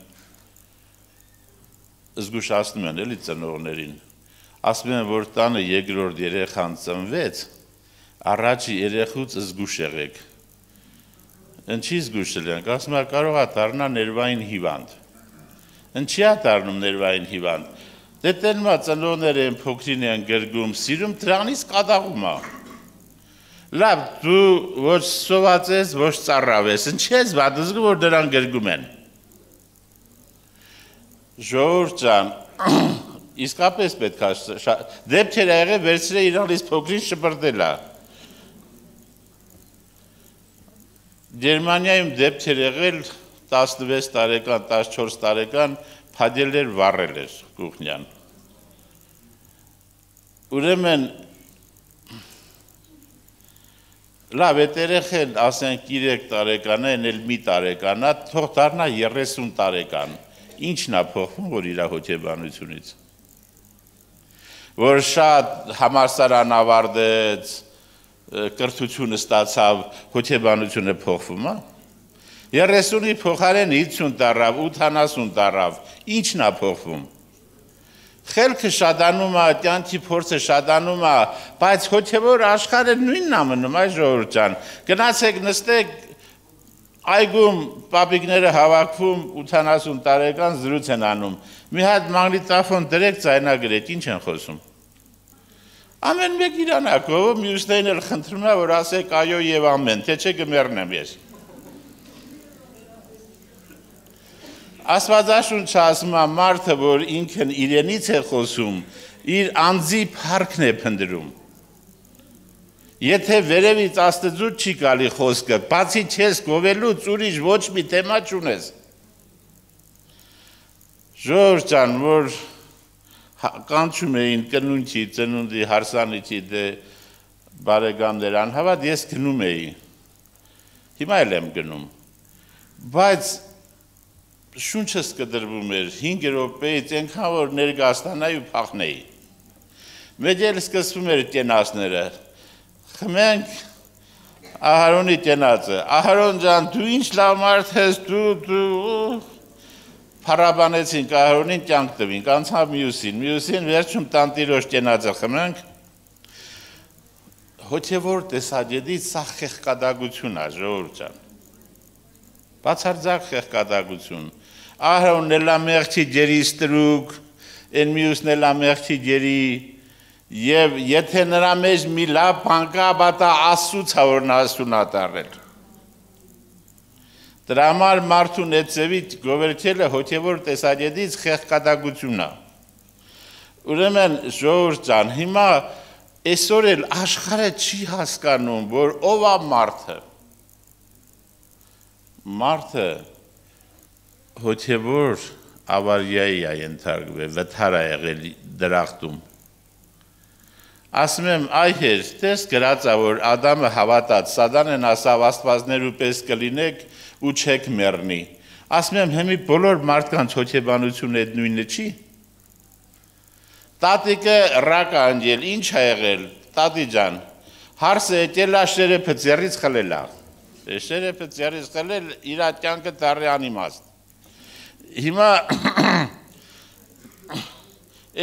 զգուշացնում են էլի ծնողներին, ասում են, որ տանը երկրորդ երեխան ծնվեց, առաջի երեխուց զգուշ եղեք։ Ինչի զգուշ ելենք, ասում է, կարող է դառնա ներվային հիվանդ։ Ինչի է դառնում ներվային հիվանդ։ Դե տենմա ծնողները են փոքրին են գրգում, սիրում, դրանից կատաղում է։ Լավ, դու ոչ սոված ես, ոչ ծառավ ես, ինչի ես վատ զգում, որ դրան գրգում են։ Ժողովուրդ ջան, իսկապես պետք է դեպքեր ա եղել վերցրել իրանից փոքրին շպրտել է։ Գերմանիայում դեպքեր եղել 16 տարեկան, 14 տարեկան փադել էր, վառել էր կուխնյան։ Ուրեմն լավ է երեխեն, ասենք 3 տարեկան է, էլ մի տարեկան է, թող դառնա 30 տարեկան։ Ինչն է փոխվում, որ իր հոգեբանությունից։ Որ շատ համալսարան ավարտեց, կրթություն ստացավ, հոգեբանությունը փոխվում է։ 30-ի փոխարեն 50 տարավ, 80 տարավ, ինչն է փոխվում։ Խելքը շատանում է, կյանքի փորձը շատանում է, բայց հոգևոր աշխարհը նույնն է մնում, այ ժողովուրդ ջան։ Գնացեք նստեք այգում պապիկները հավաքվում 80 տարեկան զրույց են անում։ Մի հատ մագնիտոֆոն դրեք, ձայնագրեք, ինչ են խոսում։ Ամեն մեկ իրանակով, մյուսներին էլ խնդրում է, որ ասեք այո եւ ամեն, թե չէ կմեռնեմ ես։ Աստվածաշունչը ասում է մարդը, որ ինքն իրենից է խոսում, իր անձի փառքն է փնտրում։ Եթե վերևից Աստծուց չի գալի խոսքը, բացի չես գովելուց ուրիշ ոչ մի թեմա չունես։ Ժողովուրդ ջան, որ կանչում էին կնունչի, ծնունդի, հարսանիքի դե բարեկամներ անհավատ, ես գնում էի։ Հիմա էլ եմ գնում։ Բայց շունչս կդրվում էր 5 րոպեից այնքան որ ներկայացնայի ու փախնեի։ Մեծ էլ սկսվում էր կենացները։ Խմենք Ահարոնի կենացը։ Ահարոն ջան, դու ինչ լավ մարդ ես, դու փառաբանեցինք Ահարոնին, կյանք տվինք, անցավ մյուսին վերջում տանտիրոջ կենացը խմենք։ Հոգևոր տեսակետից սա խեղկադագություն է, ժողովուրդ ջան։ Բացարձակ խեղկադագություն։ Ահարոնն էլ ամեղքի ջերի ստրուկ, են մյուսն էլ ամեղքի ջերի, եւ եթե նրա մեջ մի լավ բան կա, բա Աստծուց է որ նա ասունատարել։ Դրա համար մարդուն այդ ձևի գովերքելը հոգևոր տեսակետից խեղկադագություն է։ Ուրեմն ժողովուրդ ջան, հիմա այսօր էլ աշխարհը չի հասկանում, որ ով է մարդը։ Մարդը հոգևոր ավարիայի է ենթարկվել, վթար է եղել դրախտում։ Ասում եմ, այ հեր, տես գրած է, որ Ադամը հավատաց, Սատանեն ասավ աստվածներու պես կլինեք ու չեք մեռնի։ Ասում եմ, հիմի բոլոր մարդկանց հոգեբանությունը այդ նույնը չի։ Տատիկը ռակ անջել, ինչ է եղել, տատի ջան, հարսը եկել է շերեփը ձեռից խլել է։ Շերեփը ձեռից խլել, իր կյանքը դառի անիմաստ։ Հիմա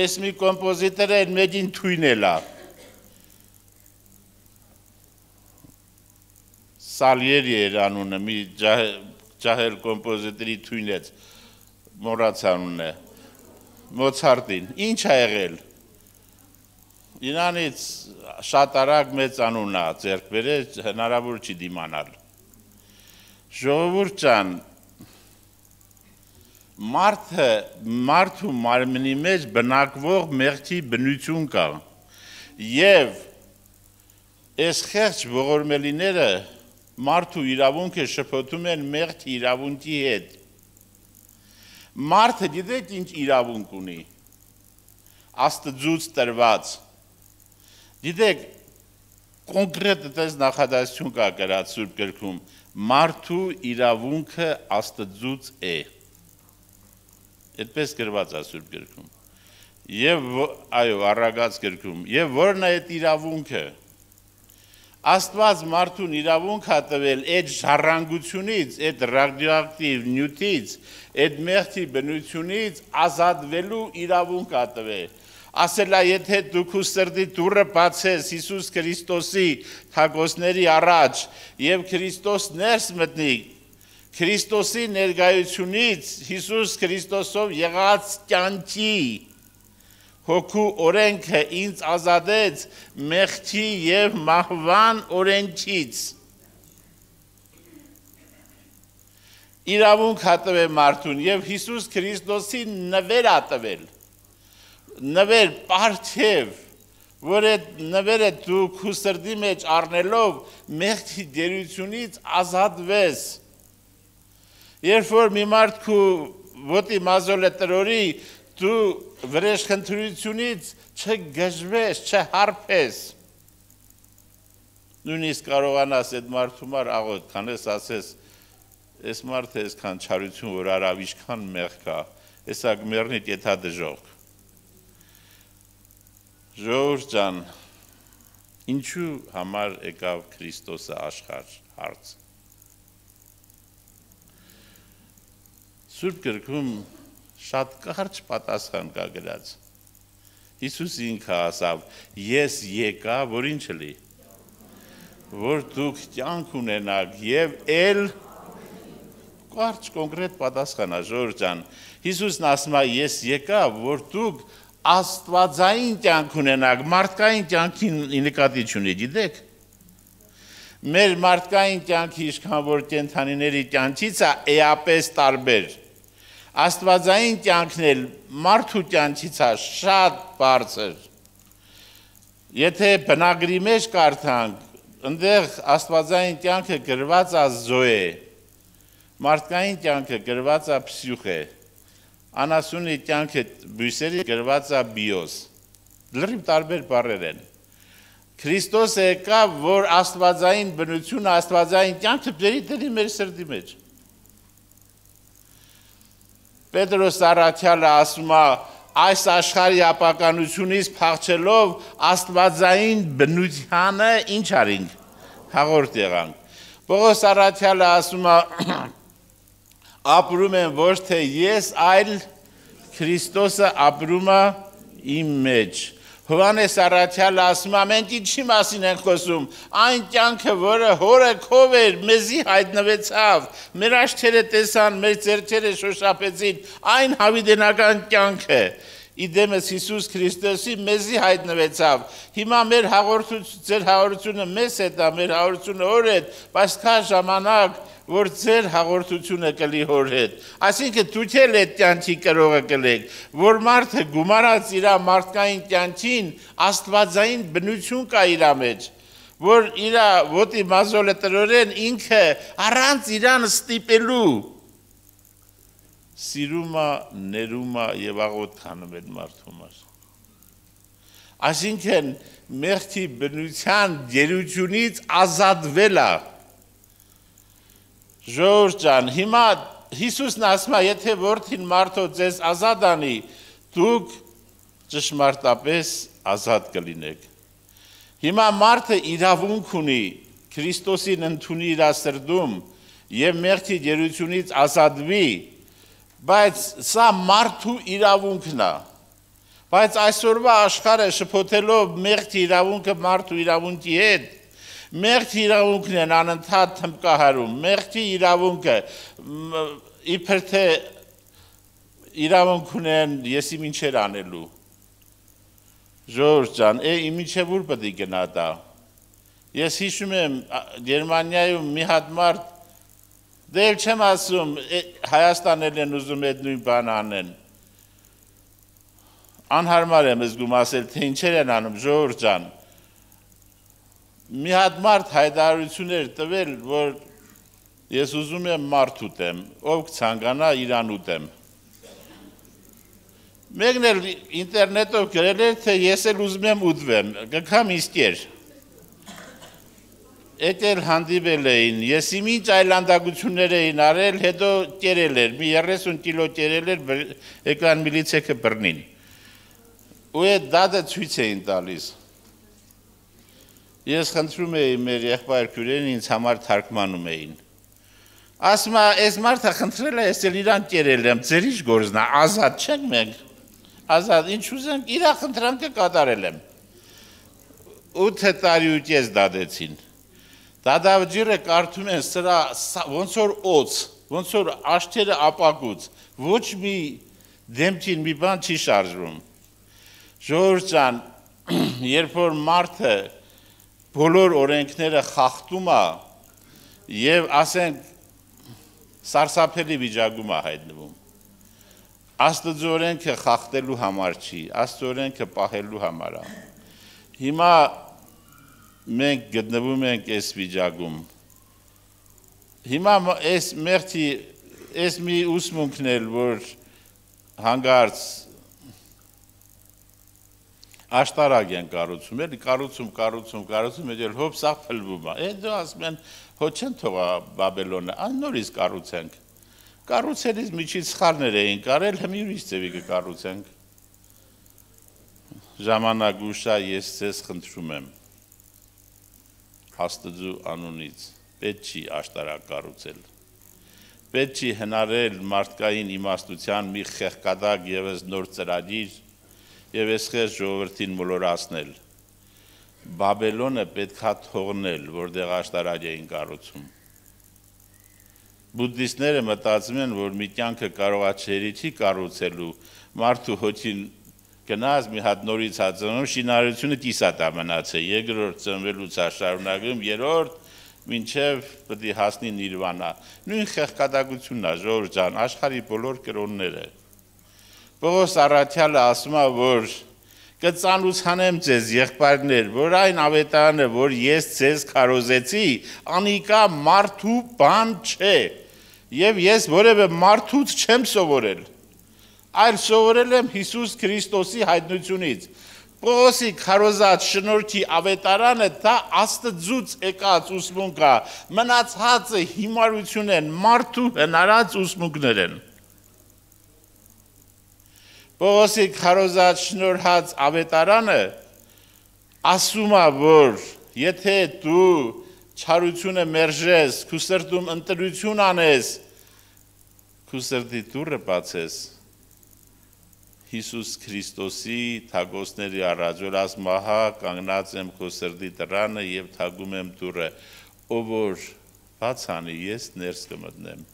այս մի կոմպոզիտորը այդ մեջին թույնել է։ Սալիերի էր անունը, մի ջահել կոմպոզիտորի թույնեց, մոռաց անունը, Մոցարտին, ինչ է եղել։ Իրանից շատ արագ մեծ անուն է ձեռք բերել, հնարավոր չի դիմանալ։ Ժողովուրդ ջան, մարդու մարմնի մեջ բնակվող մեղքի բնություն կա եւ այս խեղճ ողորմելիները մարդու իրավունքը շփոթում են մեղքի իրավունքի հետ։ Մարդը գիտեք ինչ իրավունք ունի, Աստծուց տրված։ Գիտեք, կոնկրետ այդպես նախադասություն կա գրած Սուրբ գրքում, մարդու իրավունքը Աստծուց է։ Այդպես գրված է Սուրբ գրքում։ Եվ այո, առագած գրքում, եւ որն է այդ իրավունքը։ Աստված մարդուն իրավունք է տվել այդ ժառանգությունից, այդ ռադիոակտիվ նյութից, այդ մեղքի բնությունից ազատվելու իրավունք է տվել։ Ասել է, եթե դու քո սրտի դուռը բացես Հիսուս Քրիստոսի թագոսների առաջ եւ Քրիստոս ներս մտնի, Քրիստոսի ներկայությունից Հիսուս Քրիստոսով եղած կյանքի հոգու օրենքը ինձ ազատեց մեղքի եւ մահվան օրենքից։ Իրավունք հատվել մարդուն եւ Հիսուս Քրիստոսի նվեր ատվել։ Նվեր պարթև, որ այդ նվերը դու քո սրտի մեջ առնելով մեղքի դերությունից ազատվես։ Երբ որ մի մարդ քու ոտի մազոլը տրորի, դու վրեժխնդրությունից չգժվես, չհարփես։ Նույնիսկ կարողանաս այդ մարդու մար աղոտ քանես ասես, այս մարդը այսքան չարություն որ արավ, ինչքան մեղք կա, հեսա գմեռնի տեթա դժող։ Ժողովուրդ ջան, ինչու համար եկավ Քրիստոսը աշխարհ հարց։ Սուրբ գրքում շատ կարճ պատասխան կա գրած։ Հիսուս ինքը ասավ, ես եկա, որ ինչ լի, որ դուք կյանք ունենաք եւ էլ կարճ կոնկրետ պատասխան է ժողովուրդ ջան։ Հիսուսն ասում է, ես եկա, որ դուք աստվածային կյանք ունենաք, մարդկային կյանքին նկատի չունի, գիտեք։ Մեր մարդկային կյանքի ինչքան որ կենդանիների կյանքից է էապես տարբեր։ Աստվածային կյանքն էլ մարդու կյանքից է շատ բարձր։ Եթե բնագրի մեջ կարդանք, ընդեղ աստվածային կյանքը գրված է զոե, մարդկային կյանքը գրված է փսյուխե, անասունի կյանքը բույսերի գրված է բիոս, լրիվ տարբեր բառեր են։ Քրիստոսը եկավ, որ աստվածային բնությունը, աստվածային կյանքը բերի դրի մեր սրտի մեջ։ Պետրոս առաքյալը ասում է, այս աշխարհի ապականությունից փախչելով աստվածային բնությանը ինչ արինք, հաղորդ եղանք։ Պողոս առաքյալը ասում է, ապրում են ոչ թե ես, այլ Քրիստոսը ապրում է իմ մեջ։ Հովհաննես առաքյալը ասում է, մենք ինչի մասին ենք խոսում, այն կյանքը, որը հորը քով էր, մեզի հայտնվեցավ, մեր աչքերը տեսան, մեր ձեռքերը շոշափեցին, այն հավիտենական կյանքը, իդեմս Հիսուս Քրիստոսի մեզի հայտնվեցավ։ Հիմա մեր ձեր հաղորդությունը մեզ հետ է, մեր հաղորդությունը հոր հետ, բայց կա ժամանակ, որ ձեր հաղորդությունը կլի հոր հետ։ Այսինքն դուք էլ այդ կյանքի կրողը կլեք, որ մարդը գումարած իր մարդկային կյանքին աստվածային բնություն կա իր մեջ, որ իր ոտի մազոլը տրորեն ինքը առանց իրան ստիպելու սիրում է, ներում է եւ աղոտ քանում է մարդու համար։ Այսինքն մեղքի բնության գերությունից ազատվել է։ Ժողովուրդ ջան, հիմա Հիսուսն ասում է, եթե որդին մարդո ձեզ ազատ անի, դուք ճշմարտապես ազատ կլինեք։ Հիմա մարդը իրավունք ունի Քրիստոսին ընդունի իր սրտում եւ մեղքի գերությունից ազատվի, բայց սա մարդու իրավունքն է։ Բայց այսօրվա աշխարհը շփոթելով մեղքի իրավունքը մարդու իրավունքի հետ, մեղքի իրավունքն են անընդհատ թմբկահարում, մեղքի իրավունքը իբր թե իրավունք ունեն եսի ինչեր անելու։ Ժողովուրդ ջան, մինչև ուր պետք է գնա դա։ Ես հիշում եմ Գերմանիայում մի հատ մարդ, դե էլ չեմ ասում, Հայաստանել են ուզում այդ նույն բան անեն։ Անհարմար եմ զգում ասել, թե ինչեր են անում, ժողովուրդ ջան։ Մի հատ մարդ հայտարարություններ տվել, որ ես ուզում եմ մարդ ուտեմ, ով կցանկանա իրան ուտեմ։ Մեկն էլ ինտերնետով գրել էր, թե ես էլ ուզում եմ ուտվեմ, գքամ իսկեր։ Էդ էլ հանդիպել էին, ես ինչ այլանդակություններ էին արել, հետո կերել էր, մի 30 կիլո կերել էր, եկան միլիցեքը բռնին։ Ու այդ դատը ցույց էին տալիս։ Ես խնդրում էի մեր եղբայր քույրերին ինձ համար թարգմանում էին։ Ասում է, այս մարդը խնդրել է, ես էլ իրան կերել եմ, ձեր ինչ գործն է, ազատ չենք մենք։ Ազատ, ինչ ուզենք, իր խնդրանքը կատարել եմ։ 8 տարի ու կես դադեցին։ Դադավջիրը կարդում են սրա ոնց որ օծ, ոնց որ աշտերը ապակուց, ոչ մի դեմքին մի բան չի շարժվում։ Ժողովուրդ ջան, երբ որ մարդը բոլոր օրենքները խախտում է եւ ասենք սարսափելի վիճակում է հայտնվում։ Աստծո օրենքը խախտելու համար չի, Աստծո օրենքը պահելու համար է։ Հիմա մենք գտնվում ենք այս վիճակում։ Հիմա այս մեղքի այս մի ուսմունքն էլ, որ հանգարց աշտարակ են կառուցում, էլի կառուցում, էլ հոբ սաղ փլվում է։ Հետո ասում են, հո չեն թողա Բաբելոնը, այն նորից կառուցենք։ Կառուցելիս միջից սխալներ էին կարել, հիմա ուրիշ ձևի կկառուցենք։ Ժամանակ ուշա ես ձեզ խնդրում եմ Աստծու անունից, պետք չի աշտարակ կառուցել։ Պետք չի հնարել մարդկային իմաստության մի խեղկադակ ևս նոր ծրագիր եւ այսպես ժողովրդին մոլորացնել։ Բաբելոնը պետքա թողնել, որտեղ աշտարակ էին կառուցում։ Բուդդիստները մտածում են, որ մի կյանքը կարողա չերի չի կառուցելու, մարդու հոգին գնաց մի հատ նորից հածնում, շինարարությունը կիսատ է մնացել, երկրորդ ծնվելուց է շարունակում, երրորդ մինչև պետք է հասնի նիրվանա։ Նույն խեղկադակությունն է, ժողովուրդ ջան, աշխարհի բոլոր կրոնները։ Պողոս առաքյալը ասում է, որ կծանուցանեմ ձեզ եղբայրներ, որ այն ավետարանը, որ ես ձեզ քարոզեցի, անիկա մարդու բան չէ, եւ ես որևէ մարդուց չեմ սովորել, այլ սովորել եմ Հիսուս Քրիստոսի հայտնությունից։ Պողոսի քարոզած շնորհքի ավետարանը դա Աստծուց եկած ուսմունք է, մնացածը հիմարություն են, մարդու հնարած ուսմունքներ են։ Պողոսի քարոզած շնորհած ավետարանը ասում է, որ եթե դու չարությունը մերժես, քու սրտում ընտրություն անես, քու սրտի դուռը բացես, Հիսուս Քրիստոսի թագոսների առաջ, որ ասում ահա կանգնած եմ քո սրտի դռանը եւ թագում եմ դուռը, ով որ բաց անի, ես ներս կմտնեմ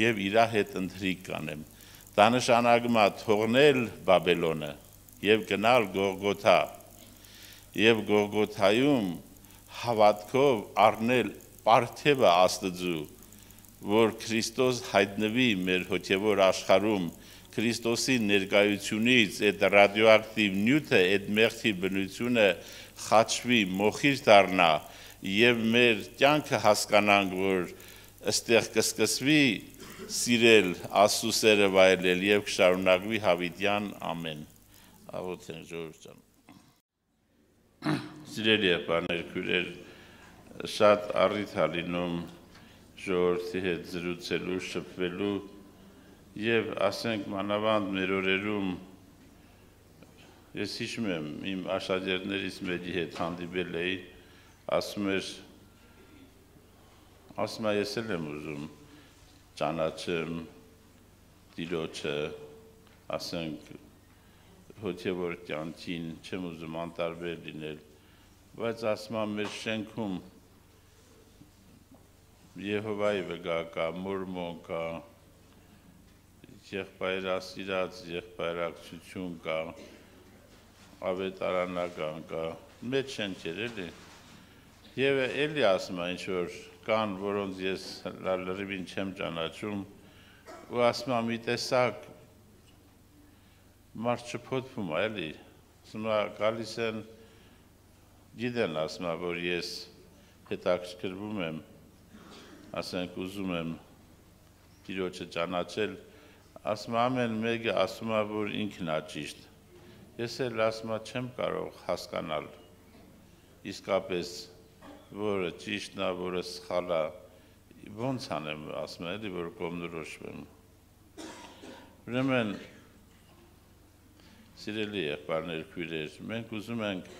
եւ իր հետ ընթրիք կանեմ։ Դա նշանակում է թողնել Բաբելոնը եւ գնալ Գողգոթա եւ Գողգոթայում հավատքով առնել պարգևը Աստծու, որ Քրիստոս հայտնվի մեր հոգեվոր աշխարհում, Քրիստոսի ներկայությունից այդ ռադիոակտիվ նյութը, այդ մեղքի բնությունը խաչվի, մոխիր դառնա եւ մեր կյանքը հասկանանք, որ այստեղ կսկսվի սիրել, Աստծուսերը վայելել եւ կշարունակվի հավիտյան ամեն։ Աղոթենք ժողովուրդ ջան։ Սիրելի եղբայրներ, քույրեր, շատ առիթ է լինում ժողովրդի հետ զրուցելու, շփվելու եւ ասենք մանավանդ մեր օրերում ես հիշում եմ իմ աշակերտներից մեկի հետ հանդիպել էի, ասում է ես էլ եմ ուզում ճանաչեմ Տիրոջը, ասենք հոգևոր կյանքին, չեմ ուզում անտարբեր լինել, բայց ասում եմ մեր շենքում Եհովայի վրա կա, մորմոն կա, եղբայրասիրած եղբայրակցություն կա, ավետարանական կա, մեծ շենքեր էլի, եւ էլի ասում է ինչ-որ կան, որոնց ես լրիվին չեմ ճանաչում, ու ասում է մի տեսակ մարդ չփոթվում է, էլի, ասում է գալիս են, գիտեն, ասում է, որ ես հետաքրքրվում եմ, ասենք ուզում եմ Տիրոջը ճանաչել, ասում ամեն մեկը ասում է, որ ինքն է ճիշտ, ես էլ ասում չեմ կարող հասկանալ, իսկապես որը ճիշտն է, որը սխալ է, ոնց անեմ, ասում էլի, որ կողմնորոշվեմ։ Ուրեմն, սիրելի եղբայրներ, քույրեր, մենք ուզում ենք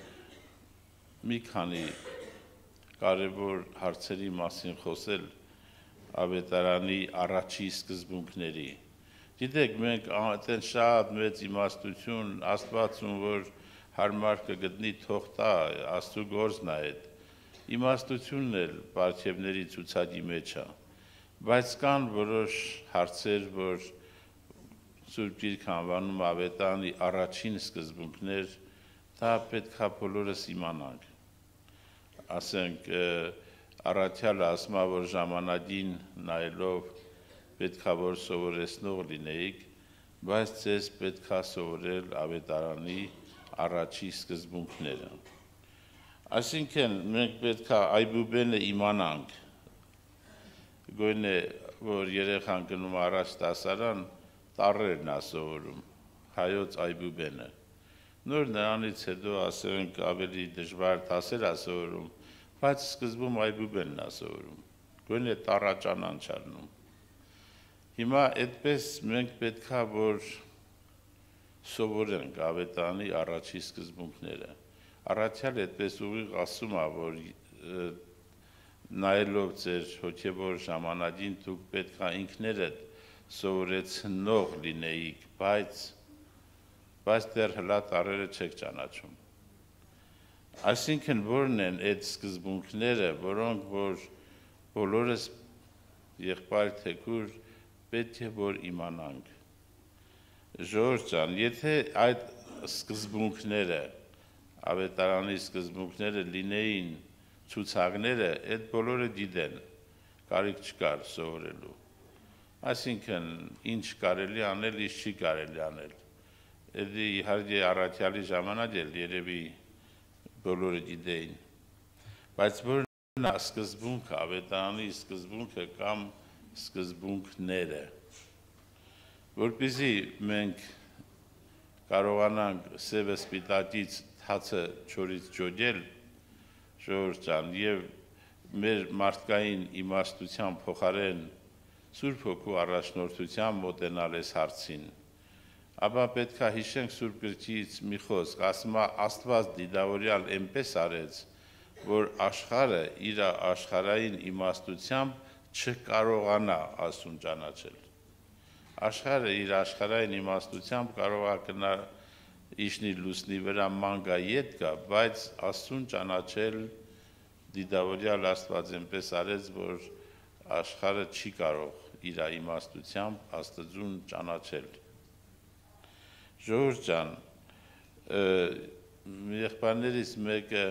մի քանի կարևոր հարցերի մասին խոսել ավետարանի առաջի սկզբունքների։ Գիտեք, մենք այդեն շատ մեծ իմաստություն, Աստվածում, որ հարմար կգտնի թող տա, Աստծու գործն է այդ, իմաստությունն էլ պարգևների ցուցակի մեջ է, բայց կան որոշ հարցեր, որ Սուրբ Գիրքը անվանում ավետարանի առաջին սկզբունքներ, դա պետք է բոլորս իմանանք։ Ասենք, առաքյալը ասում է, որ ժամանակին նայելով պետք է որ սովորեցնող լինեիք, բայց ձեզ պետք է սովորել ավետարանի առաջի սկզբունքները։ Այսինքն մենք պետք է այբուբենը իմանանք, գոնե որ երեխան գնում առաջ դասարան, տառերն է սովորում, հայոց այբուբենը։ Նոր նրանից հետո ասենք ավելի դժվար դասեր է սովորում, բայց սկզբում այբուբենն է սովորում, գոնե տառաճանան չառնում։ Հիմա այդպես մենք պետք է որ սովորենք ավետարանի առաջի սկզբունքները։ Առաքյալ այդպես ուղիղ ասում է, որ նայելով ձեր հոգևոր ժամանակին դուք պետք է ինքներդ սովորեցնող լինեիք, բայց դեռ հլա տարերը չեք ճանաչում։ Այսինքն որն են այդ սկզբունքները, որոնք որ բոլորս եղբայր թեկուր պետք է որ իմանանք։ Ժողովուրդ ջան, եթե այդ սկզբունքները, ավետարանի սկզբունքները լինեին ցուցակները, այդ բոլորը գիտեն, կարիք չկար սովորելու։ Այսինքն ինչ կարելի անել, ինչ չի կարելի անել։ Էդի իհարկե առաքյալի ժամանակ էլ երևի բոլորը գիտեին։ Բայց որն է սկզբունքը, ավետարանի սկզբունքը կամ սկզբունքները, որպեսզի մենք կարողանանք սևը սպիտակից հացը չորից ջոգել, ժողովուրդ ջան, եւ մեր մարդկային իմաստության փոխարեն Սուրբ Հոգու առաջնորդությամբ մոտենալ այս հարցին, ապա պետք է հիշենք Սուրբ Գրքից մի խոսք, ասում է Աստված դիդավորյալ այնպես արեց, որ աշխարհը իր աշխարհային իմաստությամբ չկարողանա Աստծուն ճանաչել։ Աշխարհը իր աշխարհային իմաստությամբ կարող է գնալ իշնի լուսնի վրա մանգա ետ գա, բայց Աստծուն ճանաչել դիդավորյալ Աստված այնպես արեց, որ աշխարհը չի կարող իր իմաստությամբ Աստծուն ճանաչել։ Ժողովուրդ ջան, եղբայրներից մեկը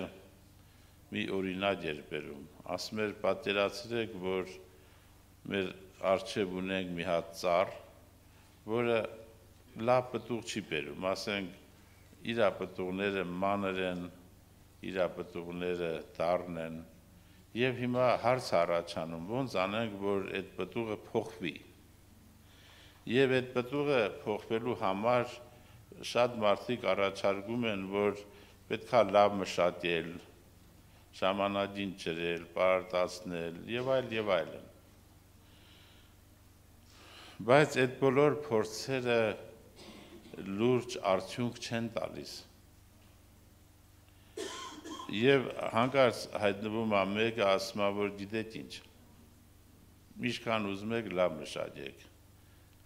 մի օրինակ էր բերում, ասում էր պատկերացրեք, որ մեր առջև ունենք մի հատ ծառ, որը լավ պտուղ չի բերում, ասենք իր պտուղները մանր են, իր պտուղները դառն են, եւ հիմա հարց առաջանում, ոնց անենք, որ այդ պտուղը փոխվի։ Եվ այդ պտուղը փոխվելու համար շատ մարդիկ առաջարկում են, որ պետք է լավ մշակել, ժամանակին ջրել, պարարտացնել եւ այլն։ Բայց այդ բոլոր փորձերը լուրջ արդյունք չեն տալիս։ Եվ հանկարծ հայտնվում է մեկը ասում է, որ գիտեք ինչ, ինչքան ուզում եք լավ մշակեք։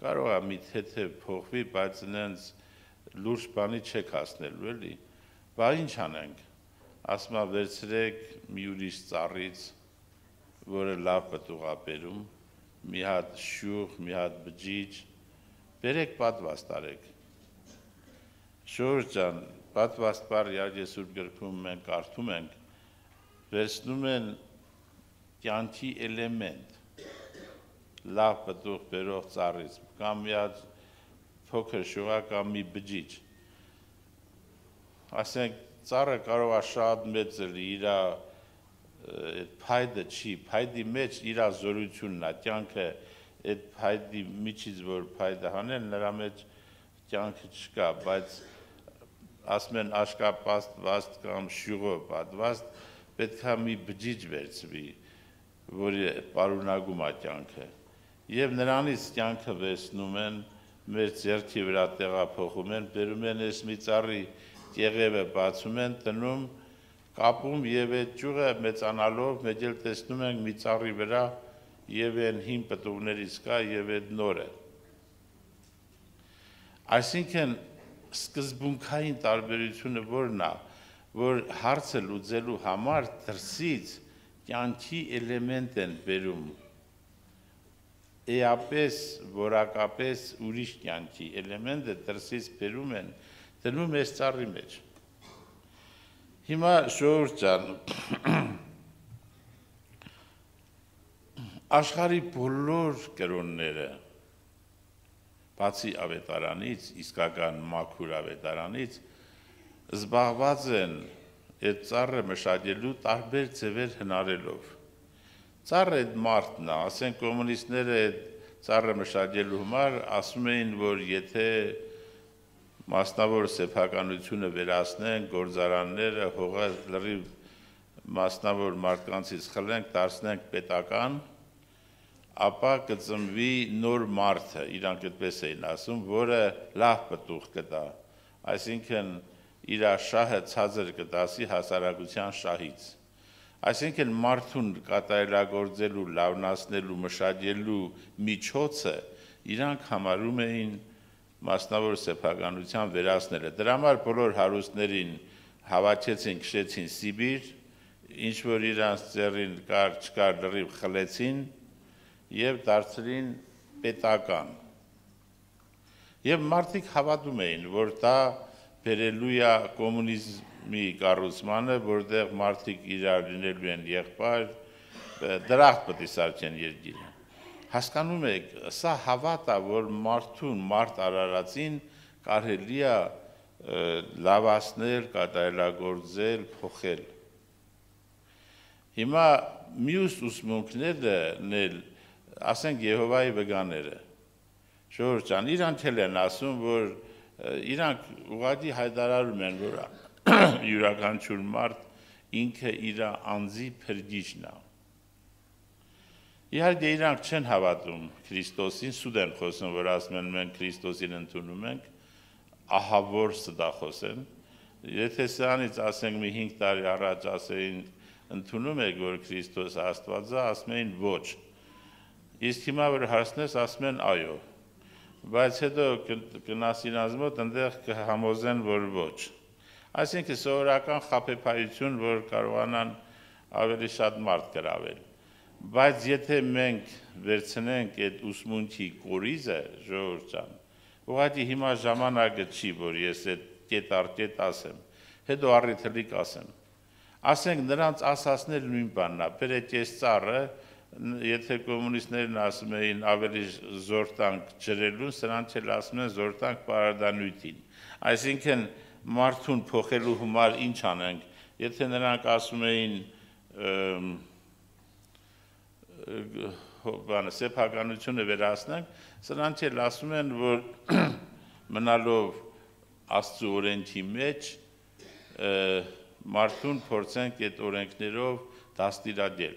Կարող է մի թեթև փոխվի, բայց նենց լուրջ բանի չեք հասնելու, էլի։ Բա ինչ անենք։ Ասում է վերցրեք մի ուրիշ ծառից, որը լավ պտուղ է բերում, մի հատ շյուղ, մի հատ բջիջ, բերեք պատվաստ արեք։ Ժողովուրդ ջան, պատվաստ բառը իհարկե Սուրբ Գրքում մենք կարդում ենք, վերցնում են կյանքի էլեմենտ, լավ պտուղ բերող ծառից, կամ մի հատ փոքր շյուղ կամ մի բջիջ։ Ասենք ծառը կարող է շատ մեծ լինի, իր այդ փայտը չի, փայտի մեջ իր զորությունն է, կյանքը այդ փայտի միջից որ փայտը հանեն, նրա մեջ կյանքը չկա, բայց ասում են աշկապատված կամ շյուղով պատված, պետք է մի բջիջ վերցվի, որի պարունակում է կյանքը։ Եվ նրանից կյանքը վերցնում են, մեր ձեռքի վրա տեղափոխում են, բերում են այս մի ծառի կեղևը բացում են, տնում, կապում եւ այդ ճյուղը մեծանալով մեկ էլ տեսնում ենք մի ծառի վրա եւ այն հին պտուղներից կա եւ այդ նորը։ Այսինքն սկզբունքային տարբերությունը որն է, որ հարցը լուծելու համար դրսից կյանքի էլեմենտ են բերում, էապես, որակապես ուրիշ կյանքի էլեմենտը դրսից բերում են, դնում այս ծառի մեջ։ Հիմա ժողովուրդ ջան, աշխարհի բոլոր կրոնները, բացի ավետարանից, իսկական մաքուր ավետարանից, զբաղված են այդ ծառը մշակելու տարբեր ձևեր հնարելով։ Ծառը այդ մարդն է, ասենք կոմունիստները այդ ծառը մշակելու համար ասում էին, որ եթե մասնավոր սեփականությունը վերացնենք, գործարանները, հողը լրիվ մասնավոր մարդկանցից խլենք, դարձնենք պետական, ապա կծնվի նոր մարդը, իրանք այդպես էին ասում, որը լավ պտուղ կտա, այսինքն իր շահը ցածր կտասի հասարակության շահից։ Այսինքն մարդուն կատարելագործելու, լավնացնելու, մշակելու միջոցը իրանք համարում էին մասնավոր սեփականության վերացնելը։ Դրա համար բոլոր հարուստներին հավաքեցին, քշեցին Սիբիր, ինչ որ իրանց ձեռին կար չկար լրիվ խլեցին եւ դարձրին պետական։ Եվ մարդիկ հավատում էին, որ դա բերելու է կոմունիզմի կառուցմանը, որտեղ մարդիկ իրար լինելու են եղբայր, դրախտ պետք է սարքեն երկիրը։ Հասկանում եք, սա հավատ է, որ մարդուն, մարդ արարածին կարելի է լավացնել, կատարելագործել, փոխել։ Հիմա մյուս ուսմունքներն էլ, ասենք Եհովայի վկաները, Ժողովուրդ ջան, իրանք էլ են ասում, որ իրանք ուղղակի հայտարարում են, որ յուրաքանչյուր մարդ ինքը իր անձի փրկիչն է։ Իհարկե իրանք չեն հավատում Քրիստոսին, սուտ են խոսում, որ ասում են մենք Քրիստոսին ընդունում ենք, ահավոր ստախոս են։ Եթե սրանից ասենք մի 5 տարի առաջ ասեին ընդունում եք, որ Քրիստոսը Աստված է, ասում էին ոչ։ Իսկ հիմա որ հարցնես, ասում են այո։ Բայց հետո կնաս իրանց մոտ ընդեղ կհամոզեն, որ ոչ։ Այսինքն սովորական խաբեբայություն, որ կարողանան ավելի շատ մարդ գրավել։ Բայց եթե մենք վերցնենք այդ ուսմունքի կորիզը, ժողովուրդ ջան, ուղղակի հիմա ժամանակը չի, որ ես այդ կետ առ կետ ասեմ, հետո առիթելիկ ասեմ։ Ասենք նրանց ասածներ նույն բանն է, բերեք այս ծառը, եթե կոմունիստներն ասում էին ավելի զոր տանք ջրելուն, սրանց էլ ասում են զոր տանք պարադանույթին։ Այսինքն մարդուն փոխելու համար ինչ անենք, եթե նրանք ասում էին սեփականությունը վերացնենք, սրանց էլ ասում են, որ մնալով Աստծո օրենքի մեջ մարդուն փորձենք այդ օրենքներով դաստիարակել։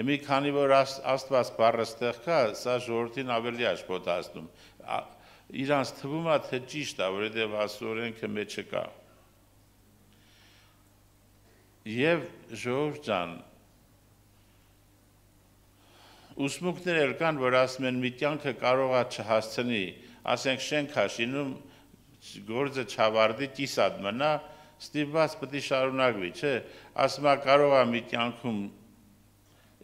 Հիմա քանի որ Աստված բառը ստեղ կա, սա ժողովրդին ավելի աշխատում։ Իրանց թվում է, թե ճիշտ է, որովհետև Աստծո օրենքը մեջը կա։ Եվ ժողովուրդ ջան, ուսմունքներ էլ կան, որ ասում են մի կյանքը կարող է չհասցնի, ասենք շենք հաշինում գործը չավարտի, կիսատ մնա, ստիպված պետք է շարունակվի, չէ, ասում է կարող է մի կյանքում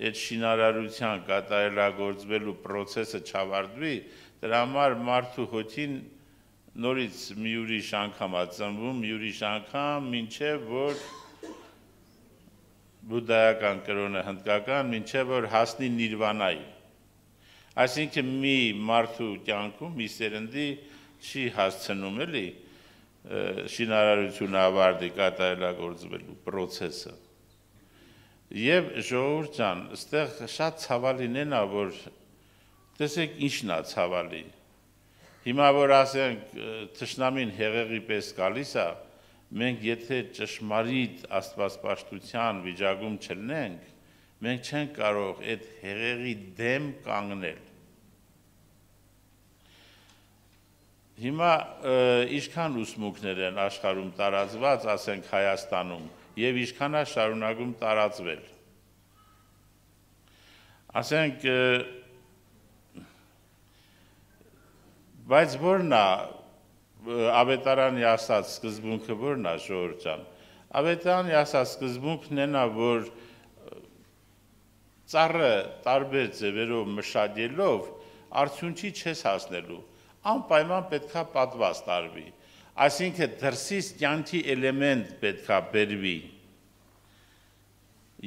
այդ շինարարության կատարելագործվելու process-ը չավարտվի, դրա համար մարդու հոգին նորից մի ուրիշ անգամ է ծնվում, մի ուրիշ անգամ, մինչև որ բուդդայական կրոնը հնդկական, մինչև որ հասնի նիրվանայի։ Այսինքն մի մարդու կյանքում, մի սերնդի չի հասցնում էլի շինարարությունը ավարտի կատարելագործվելու process-ը։ Եվ ժողովուրդ ջան, այստեղ շատ ցավալին է, որ տեսեք ինչն է ցավալի։ Հիմա որ ասենք թշնամին հեղեղի պես գալիս է, մենք եթե ճշմարիտ աստվածպաշտության վիճակում չլինենք, մենք չենք կարող այդ հեղեղի դեմ կանգնել։ Հիմա ինչքան ուսմունքներ են աշխարհում տարածված, ասենք Հայաստանում, եւ ինչքան է շարունակում տարածվել։ Ասենք բայց որն է Ավետարանի ասած սկզբունքը որն է ժողովուրդ ջան։ Ավետարանի ասած սկզբունքն է, որ ծառը տարբեր ձևերով մշակելով արդյունքի չես հասնելու, անպայման պետքա պատված տարվի, այսինքն դրսից կյանքի էլեմենտ պետքա բերվի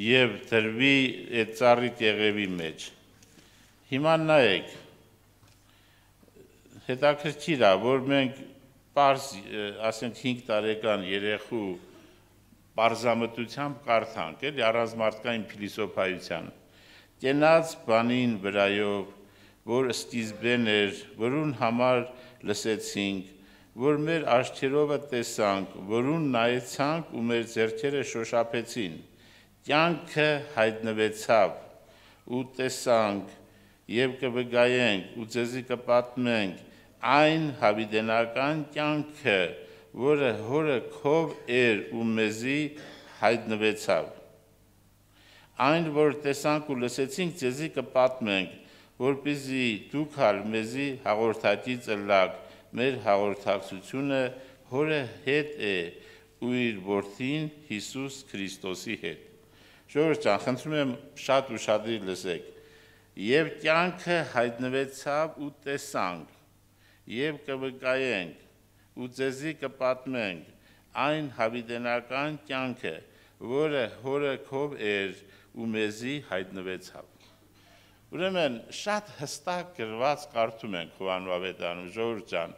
եւ դրվի այդ ծառի կեղևի մեջ։ Հիմա նայեք, հետաքրքիր է, որ մենք պարզ, ասենք 5 տարեկան երեխու պարզամտությամբ կարդանք, էլի առանց մարդկային փիլիսոփայության։ կենաց բանին վրայով, որ սկիզբեն էր, որուն համար լսեցինք, որ մեր աչքերովը տեսանք, որուն նայեցանք ու մեր ձեռքերը շոշափեցին, կյանքը հայտնվեցավ ու տեսանք եւ կվգայենք ու ձեզի կպատմենք այն հավիտենական կյանքը, որը հորը քով էր ու մեզի հայտնվեցավ։ Այն, որ տեսանք ու լսեցինք, ձեզի կպատմենք, որպեսզի դուք հալ մեզի հաղորդակից ըլլաք, մեր հաղորդակցությունը հորը հետ է ու իր որդին Հիսուս Քրիստոսի հետ։ Ժողովուրդ ջան, խնդրում եմ շատ ուշադիր լսեք։ Եվ կյանքը հայտնվեցավ ու տեսանք, եւ կվկայենք ու ձեզի կպատմենք այն հավիտենական կյանքը, որը հորը քով էր ու մեզի հայտնվեցավ։ Ուրեմն շատ հստակ գրված կարդում ենք Հովհաննես ավետարանում, ժողովուրդ ջան,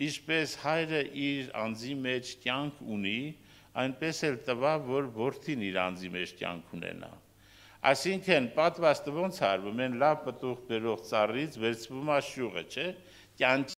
ինչպես հայրը իր անձի մեջ կյանք ունի, այնպես էլ տվավ, որ որդին իր անձի մեջ կյանք ունենա։ Այսինքն պատվաստը ոնց արվում են լավ պտուղ բերող ծառից վերցվում է շյուղը, չէ՞,